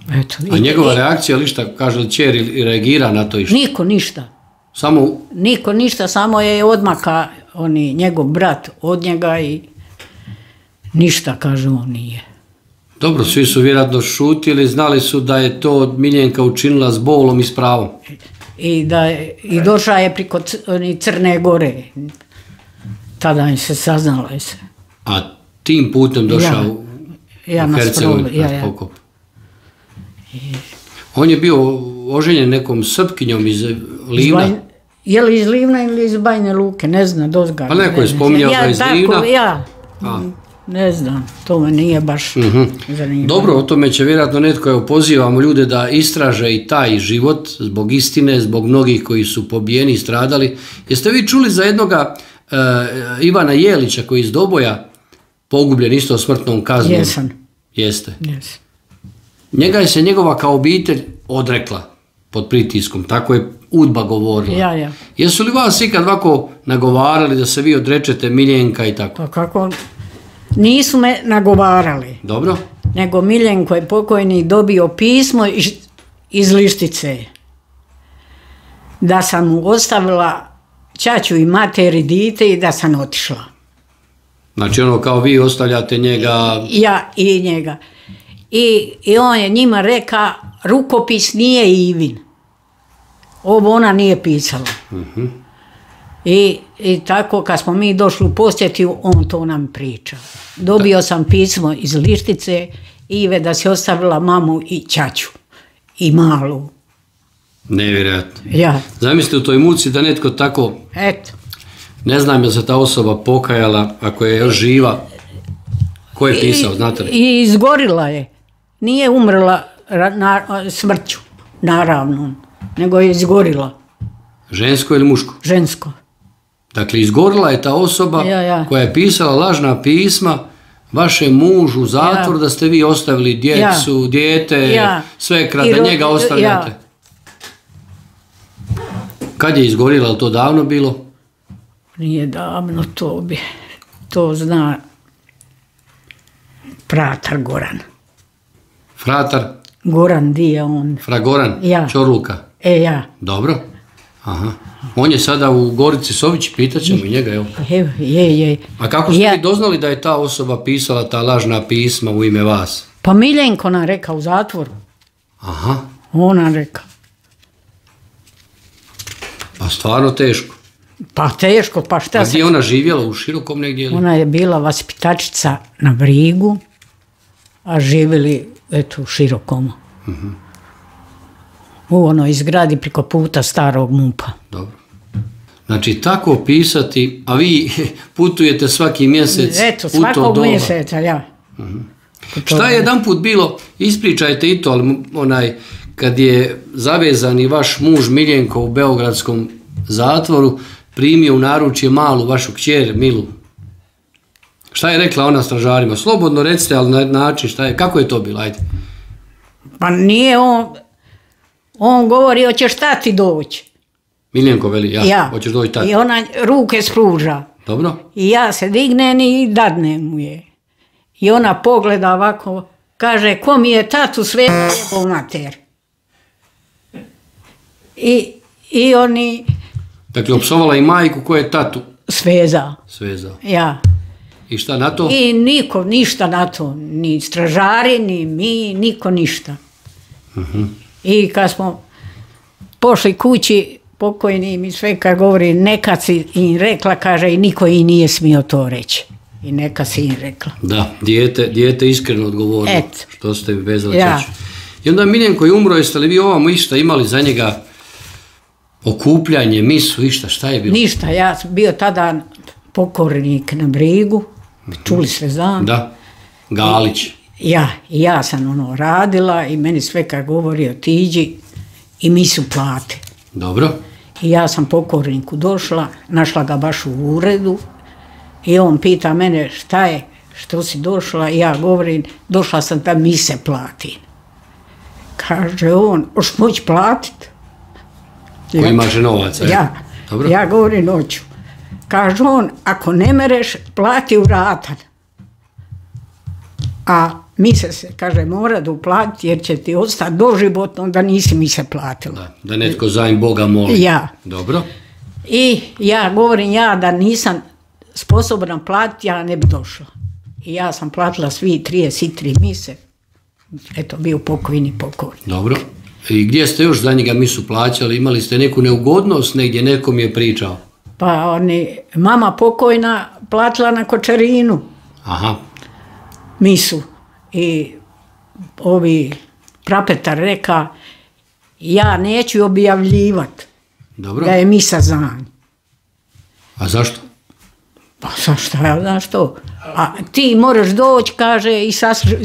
Eto, A njegova reakcija, ali šta, kaže li čer i reagira na to išta? Niko ništa. Samo... Niko ništa, samo je odmaka njegov brat od njega i ništa, kaže, on nije. Dobro, svi su vjerojatno šutili, znali su da je to Miljenka učinila s bolom i s pravom. I došla je priko Crne Gore. Tada im se saznalo je se. A tim putem došao u Hercegovinu na pokop. On je bio oženjen nekom Srpkinjom iz Livna. Je li iz Livna ili iz Bajne Luke, ne znam, dozga. Pa neko je spominjao da je iz Livna. Ja, ne znam, to me nije baš zanimljivo. Dobro, o tome će vjerojatno netko, evo pozivamo ljude da istraže i taj život zbog istine, zbog mnogih koji su pobijeni i stradali. Jeste vi čuli za jednoga Ivana Jelića koji iz Doboja pogubljen isto smrtnom kaznom? Jesam. Jeste. Jesam. Njega je se njegova kao obitelj odrekla pod pritiskom, tako je UDBA govorila. Ja. Jesu li vas ikad ovako nagovarali da se vi odrečete Miljenka i tako? Pa kako? Nisu me nagovarali. Dobro. Nego Miljenko je pokojni dobio pismo iz Lištice. Da sam mu ostavila ćaću i materi dite i da sam otišla. Znači ono kao vi ostavljate njega... Ja i njega. I on je njima reka, rukopis nije Ivin. Ovo ona nije pisala. I tako kad smo mi došli u posjetiju, on to nam priča. Dobio sam pismo iz Lištice, Ive, da si ostavila mamu i ćaću. I malu. Nevjerojatno. Ja. Zamislite u toj muci da netko tako... Eto. Ne znam je se ta osoba pokajala, ako je još živa. Ko je pisao, znate li? I izgorila je. Nije umrla smrću, naravno, nego je izgorila. Žensko ili muško? Žensko. Dakle, izgorila je ta osoba koja je pisala lažna pisma vašem mužu u zatvoru da ste vi ostavili djecu, dijete, svekra, da njega ostavljate. Kad je izgorila, ali to davno bilo? Nije davno, to zna fratar Goran. Fratar? Goran, di je on? Fra Goran? Čorluka? Ja. Dobro. Aha. On je sada u Gorici Sović, pitaćemo i njega, evo. Je. A kako ste vi doznali da je ta osoba pisala ta lažna pisma u ime vas? Pa Miljenko nam reka u zatvoru. Aha. Ona reka. Pa stvarno teško. Pa teško, pa šta se... A gdje je ona živjela, u Širokom negdje? Ona je bila vaspitačica na Brigu, a živjeli, eto, u Širokom. U onoj zgradi priko puta starog MUP-a. Dobro. Znači, tako pisati, a vi putujete svaki mjesec. Eto, svakog mjeseca, ja. Šta je jedan put bilo, ispričajte i to, ali kad je zavezani vaš muž Miljenko u beogradskom zatvoru, primio u naručje malu vašu kćer Milu. Šta je rekla ona stražarima? Slobodno recite, ali na način, kako je to bilo, ajde. Pa nije on govori, hoćeš tati doći. Miljenko veli, hoćeš doći tati. I ona ruke spruža. Dobro. I ja se dignem i dadnem mu je. I ona pogleda ovako, kaže, ko mi je tatu sve jebao mater. I oni... Dakle, opsovala i majku koja je tatu. Svezao. Ja. I šta na to? I niko ništa na to. Ni stražari, ni mi, niko ništa. I kad smo pošli kući, pokojni mi sve kad govori, neka si im rekla, kaže, i niko i nije smio to reći. I neka si im rekla. Da, dijete iskreno odgovorilo. Što ste vezali čaču. I onda Miljenko je umro, jeste li vi ovamo išta imali za njega okupljanje, misu, išta, šta je bilo? Ništa, ja sam bio tada pokornik na Brigu, čuli sve znam. Da, Galić. Ja sam radila i meni sve kad govori otiđi i misu plate. Dobro. I ja sam pokorniku došla, našla ga baš u uredu i on pita mene što si došla? Ja govorim, došla sam da mise platim. Kaže on, hoš moći platiti? Ko imaš novaca? Ja. Dobro. Ja govorim, hoću. Kaže on, ako ne mereš, plati u ratan. A mise se, kaže, mora da uplatiti jer će ti ostati doživotno da nisi mise platila. Da netko za im Boga moli. Ja. Dobro. I ja govorim, ja da nisam sposobna platiti, ja ne bi došla. I ja sam platila svi 33 mise. Eto, bio pokojni. Dobro. I gdje ste još za njega misu plaćali? Imali ste neku neugodnost negdje, nekom je pričao? Pa mama pokojna platila na Kočarinu. Aha. Misu. I ovi prapetar reka, ja neću objavljivati da je misa za nj. A zašto? Pa zašto, ja znam što. A ti moraš doći, kaže, i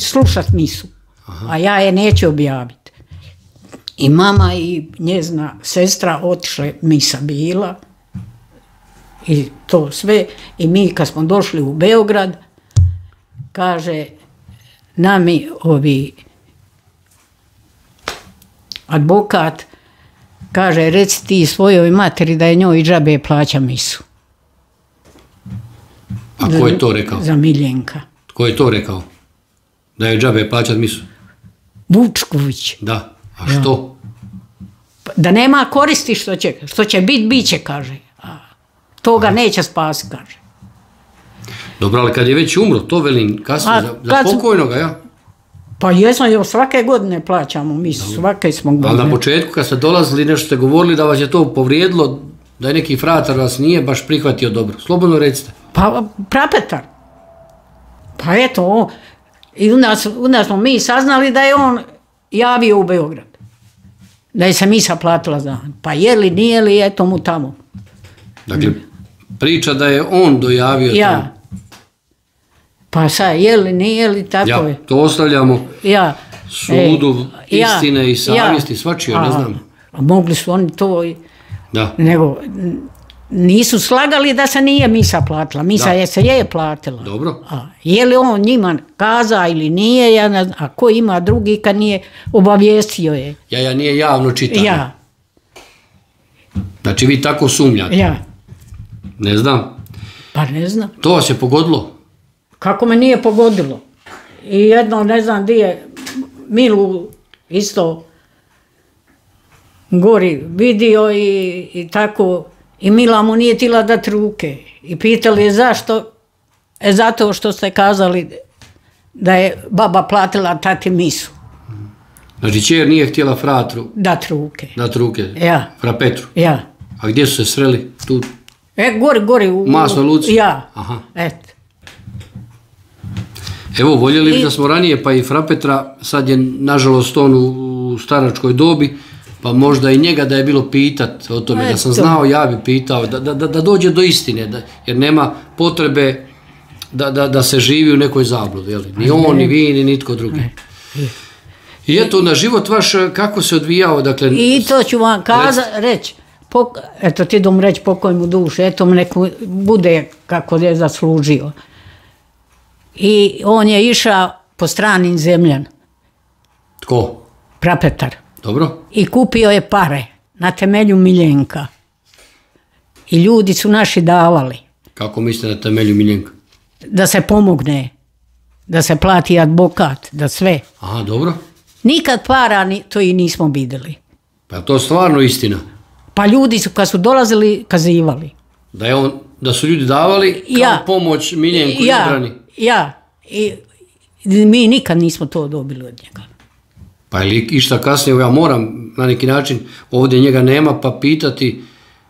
slušat misu. Aha. A ja je neću objaviti. I mama i njezina sestra otišle, misa bila. I to sve. I mi kad smo došli u Beograd, kaže, nami ovi advokat, kaže, reci ti svojoj materi da je njoj džabe plaća misu. A ko je to rekao? Za Miljenka. Ko je to rekao? Da je džabe plaćat misu? Vučković. Da. A što? Da nema koristi što će bit će, kaže. A toga neće spasi, kaže. Dobro, ali kad je već umro, to velim kasnije za pokojnoga, ja? Pa jesmo, još svake godine plaćamo misu, svake smo godine. Ali na početku kad ste dolazili, nešto ste govorili da vas je to povrijedilo, da je neki fratar vas nije baš prihvatio dobro. Slobodno recite. Pa prapetar. Pa eto, i onda smo mi saznali da je on javio u Beograd. Da je se misa platila za on. Pa je li, nije li, eto mu tamo. Dakle, priča da je on dojavio tamo. Pa sad, je li, nije li, tako je. To ostavljamo sudu istine i savjesti, svačije, ne znam. Mogli su oni to, da. Nego nisu slagali da se nije misa platila. Misa se je platila. Dobro. Je li on njima kaza ili nije, ja ne znam, a ko ima drugi kad nije obavijestio je. Ja nije javno čitano. Ja. Znači vi tako sumnjate? Ja. Ne znam. Pa ne znam. To vas je pogodilo? Kako me nije pogodilo. I jedno, ne znam gdje je, Milu isto gori vidio i tako, i Mila mu nije tila dati ruke. I pitali je zašto? Zato što ste kazali da je baba platila tati misu. Znači čer nije htjela fratru dati ruke. Dati ruke? Ja. Fra Petru? Ja. A gdje su se sreli? Tu? Gori. U Masnoj Luci? Ja. Aha. Eto. Evo, voljeli bi da smo ranije, pa i fra Petra, sad je nažalost on u staračkoj dobi, pa možda i njega da je bilo pitat o tome, da sam znao, ja bi pitao, da dođe do istine, jer nema potrebe da se živi u nekoj zabludi, ni on, ni vi, ni nitko drugi. I eto, na život vaš, kako se odvijao, dakle... I to ću vam reći, eto ti dom reći pokoj mu duše, eto mu neko bude kako je zaslužio. I on je išao po stranim zemljama. Tko? Prapetar. Dobro. I kupio je pare na temelju Miljenka. I ljudi su naši davali. Kako mislite na temelju Miljenka? Da se pomogne, da se plati advokat, da sve. Aha, dobro. Nikad para to i nismo vidjeli. Pa je to stvarno istina? Pa ljudi su kad su dolazili kazivali. Da su ljudi davali kao pomoć Miljenku i obrani? Ja. I mi nikad nismo to dobili od njega. Pa je li išta kasnije, ja moram na neki način, ovdje njega nema, pa pitati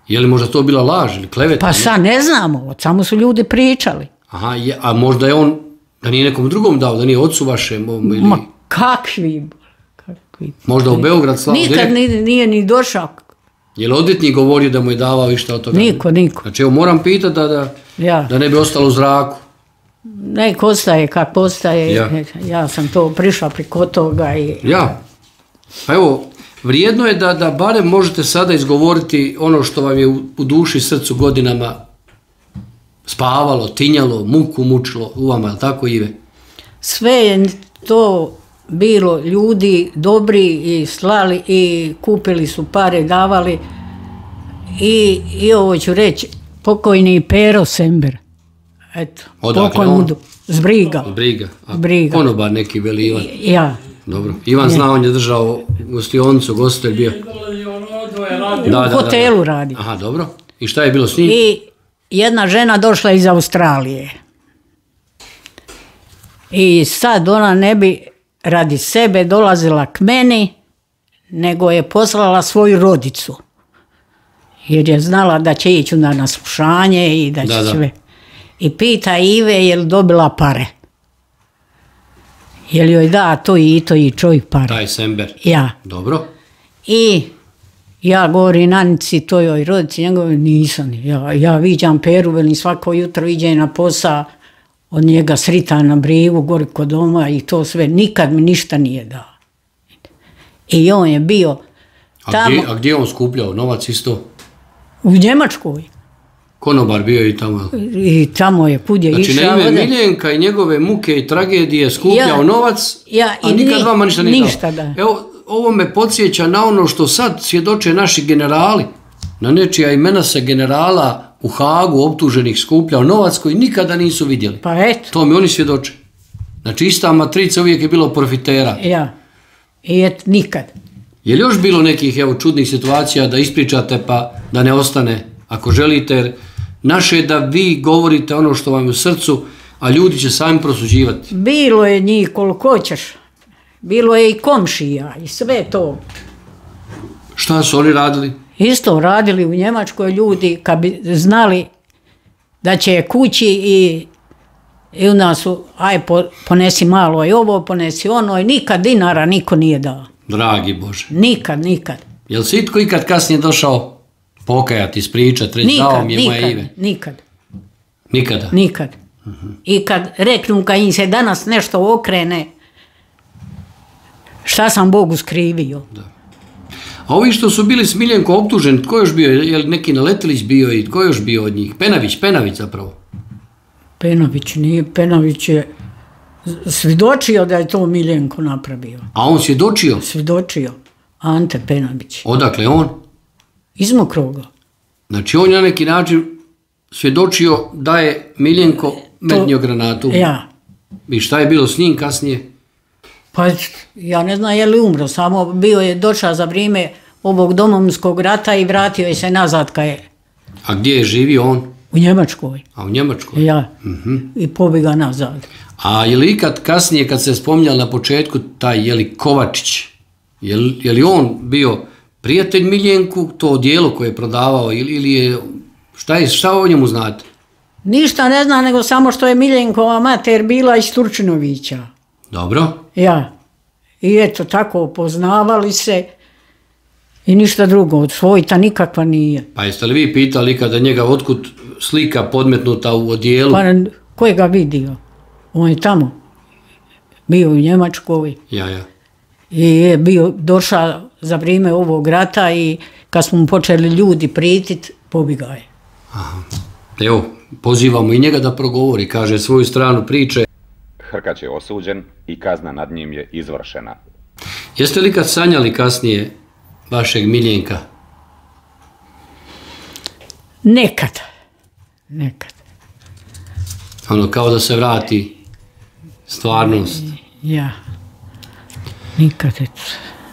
je li možda to bila laž ili kleveta? Pa sad ne znamo, samo su ljudi pričali. Aha, a možda je on, da nije nekom drugom dao, da nije ocu vašem? Ma kakvi? Možda u Beograd slao direkt? Nikad nije ni došao. Je li odvjetnik govorio da mu je davao išta od toga? Niko. Znači, evo moram pitati da ne bi ostalo u zraku. Nek ostaje kako ostaje, ja sam to prišla preko toga. Ja, pa evo, vrijedno je da barem možete sada izgovoriti ono što vam je u duši i srcu godinama spavalo, tinjalo, muku mučilo u vama, je li tako, Ive? Sve je to bilo ljudi dobri i slali i kupili su pare, davali i ovo ću reći, pokojni Pero Sember. Eto, odakle on? Zbriga. Briga. Konobar neki veli Ivan. Ja. Dobro. Ivan zna, on je držao gostionicu, gostelj bio. U hotelu radi. Aha, dobro. I šta je bilo s njim? I jedna žena došla iz Australije. I sad ona ne bi radi sebe dolazila k meni, nego je poslala svoju rodicu. Jer je znala da će ići na slušanje i da će sve. I pita Ive je li dobila pare. Je li joj da to i čovjek pare. Taj Sember. Ja. Dobro. I ja govorim Anici, to joj rodici, njegove nisam. Ja viđam Peru, velim svako jutro iđe na posao, od njega srita na brigu, gori kod doma i to sve. Nikad mi ništa nije dao. I on je bio tamo. A gdje je on skupljao novac isto? U Njemačkoj. Konobar bio i tamo. I tamo je kud je išao. Znači na ime Miljenka i njegove muke i tragedije skupljao novac, a nikad vama ništa nije dao. Ništa, da. Evo, ovo me podsjeća na ono što sad svjedoče naši generali. Na nečija imena se generala u Hagu optuženih skupljao novac koji nikada nisu vidjeli. Pa eto. To mi oni svjedoče. Znači ista matrica uvijek je bilo profitera. Ja. I eto, nikad. Je li još bilo nekih čudnih situacija da ispričate pa da ne ostane ako želite, jer naše je da vi govorite ono što vam je u srcu, a ljudi će sami prosuđivati. Bilo je njih koliko hoćeš. Bilo je i komšija i sve to. Šta su oni radili? Isto radili u Njemačkoj ljudi kad bi znali da će kući i u nas su, aj ponesi malo i ovo, ponesi ono i nikad dinara niko nije dao. Dragi Bože. Nikad. Jel se itko ikad kasnije došao pokajati, ispričati, reći dao mi je moje ime? Nikad. Nikada? Nikad. I kad reknu, kad im se danas nešto okrene, šta sam Bogu skrivio. Da. A ovi što su bili s Miljenko optuženi, tko još bio? Je li neki Naletilić bio i tko još bio od njih? Penavić zapravo. Penavić nije, Penavić je svjedočio da je to Miljenko napravio. A on svjedočio? Svjedočio. Ante Penavić. Odakle on? Iz Mokroga. Znači on je na neki način svjedočio da je Miljenko metnio granatu. Ja. I šta je bilo s njim kasnije? Pa ja ne znam je li umro, samo bio je došao za vrijeme ovog Domovinskog rata i vratio je se nazad kad je. A gdje je živio on? U Njemačkoj. A u Njemačkoj? Ja. I pobjega nazad. A je li ikad kasnije kad se spominjali na početku taj Kovačić, je li on bio prijatelj Miljenku, to odijelo koje je prodavao ili je, šta o njemu znate? Ništa ne znam, nego samo što je Miljenkova mater bila iz Turčinovića. Dobro. Ja. I eto, tako poznavali se i ništa drugo, od svojta nikakva nije. Pa jeste li vi pitali kada njega otkud slika podmetnuta u odijelu? Pa ko je ga vidio? On je tamo. Bio u Njemačkoj. Ja. I je bio došao za vrijeme ovog rata i kad smo mu počeli ljudi pritit, pobjegao je. Aha. Evo, pozivamo i njega da progovori, kaže svoju stranu priče. Hrkać je osuđen i kazna nad njim je izvršena. Jeste li kad sanjali kasnije vašeg Miljenka? Nekad. Ono, kao da se vrati stvarnost. Ja. Nikad.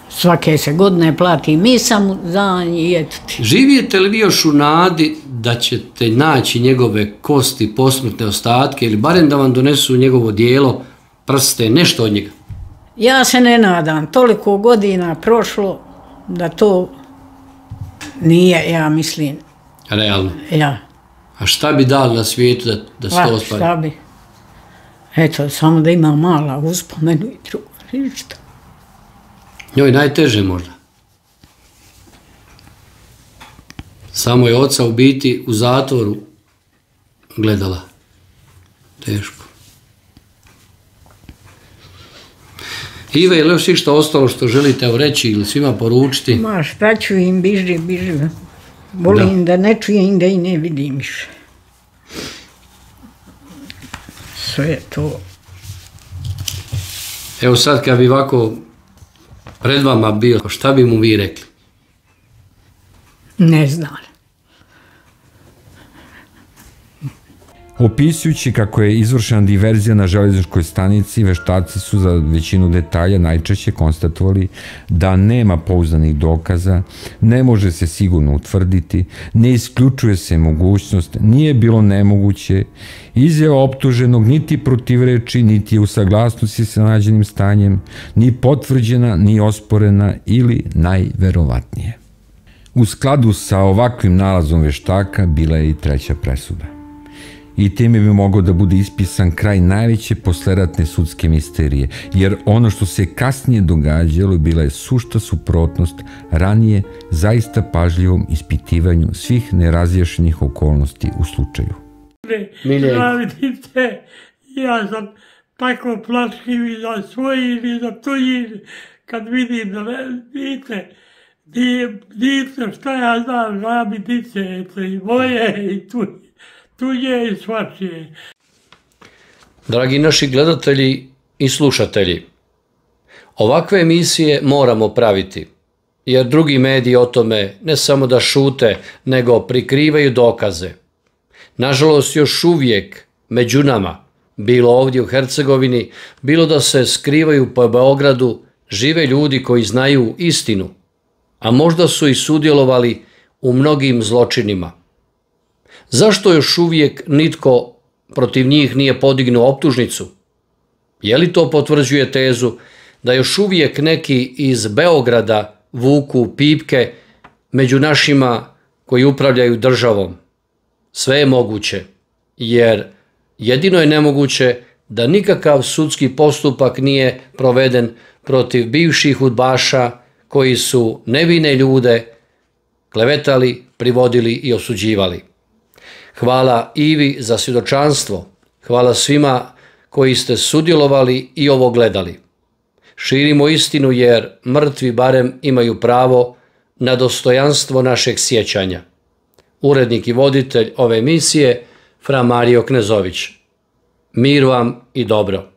Svake se godine plati misam za i eto ti. Živijete li vi još u nadi da ćete naći njegove kosti, posmrtne ostatke ili barem da vam donesu njegovo dijelo, prste, nešto od njega? Ja se ne nadam. Toliko godina prošlo da to nije, ja mislim. Realno? Ja. A šta bi dali na svijetu da se to ostvari? Šta bi? Eto, samo da ima mala uspomenu i drugo. Ništa. Njoj najteže možda. Samo je oca u biti u zatvoru gledala. Teško. Ive, je li još išta ostalo što želite reći ili svima poručiti? Ma šta ću im, biži. Volim da ne čujem, da i ne vidim više. sve to. Evo sad kad bi ovako pred vama bio, šta bi mu vi rekli? Ne znam. Opisujući kako je izvršena diverzija na železničkoj stanici, veštaci su za većinu detalja najčešće konstatovali da nema pouzdanih dokaza, ne može se sigurno utvrditi, ne isključuje se mogućnost, nije bilo nemoguće, izjava optuženog niti protivreči, niti je u saglasnosti sa nađenim stanjem, ni potvrđena, ni osporena ili najverovatnije. U skladu sa ovakvim nalazom veštaka bila je i treća presuda. I time bi mogao da bude ispisan kraj najveće posleratne sudske misterije, jer ono što se kasnije događalo bila je sušta suprotnost ranije zaista pažljivom ispitivanju svih nerazjašnjenih okolnosti u slučaju. Vidite, ja sam tako plaškiv i za svoji i za tuji, kad vidim da vidite, dice, šta ja znam, ja bi dice, i moje i tuđe i svačije. Dragi naši gledatelji i slušatelji, ovakve emisije moramo praviti, jer drugi mediji o tome ne samo da šute, nego prikrivaju dokaze. Nažalost, još uvijek među nama, bilo ovdje u Hercegovini, bilo da se skrivaju po Beogradu, žive ljudi koji znaju istinu, a možda su i sudjelovali u mnogim zločinima. Zašto još uvijek nitko protiv njih nije podignuo optužnicu? Je li to potvrđuje tezu da još uvijek neki iz Beograda vuku pipke među našima koji upravljaju državom? Sve je moguće, jer jedino je nemoguće da nikakav sudski postupak nije proveden protiv bivših udbaša koji su nevine ljude klevetali, privodili i osuđivali. Hvala Ivi za svjedočanstvo, hvala svima koji ste sudjelovali i ovo gledali. Širimo istinu jer mrtvi barem imaju pravo na dostojanstvo našeg sjećanja. Urednik i voditelj ove emisije, Fra Mario Knezović. Mir vam i dobro.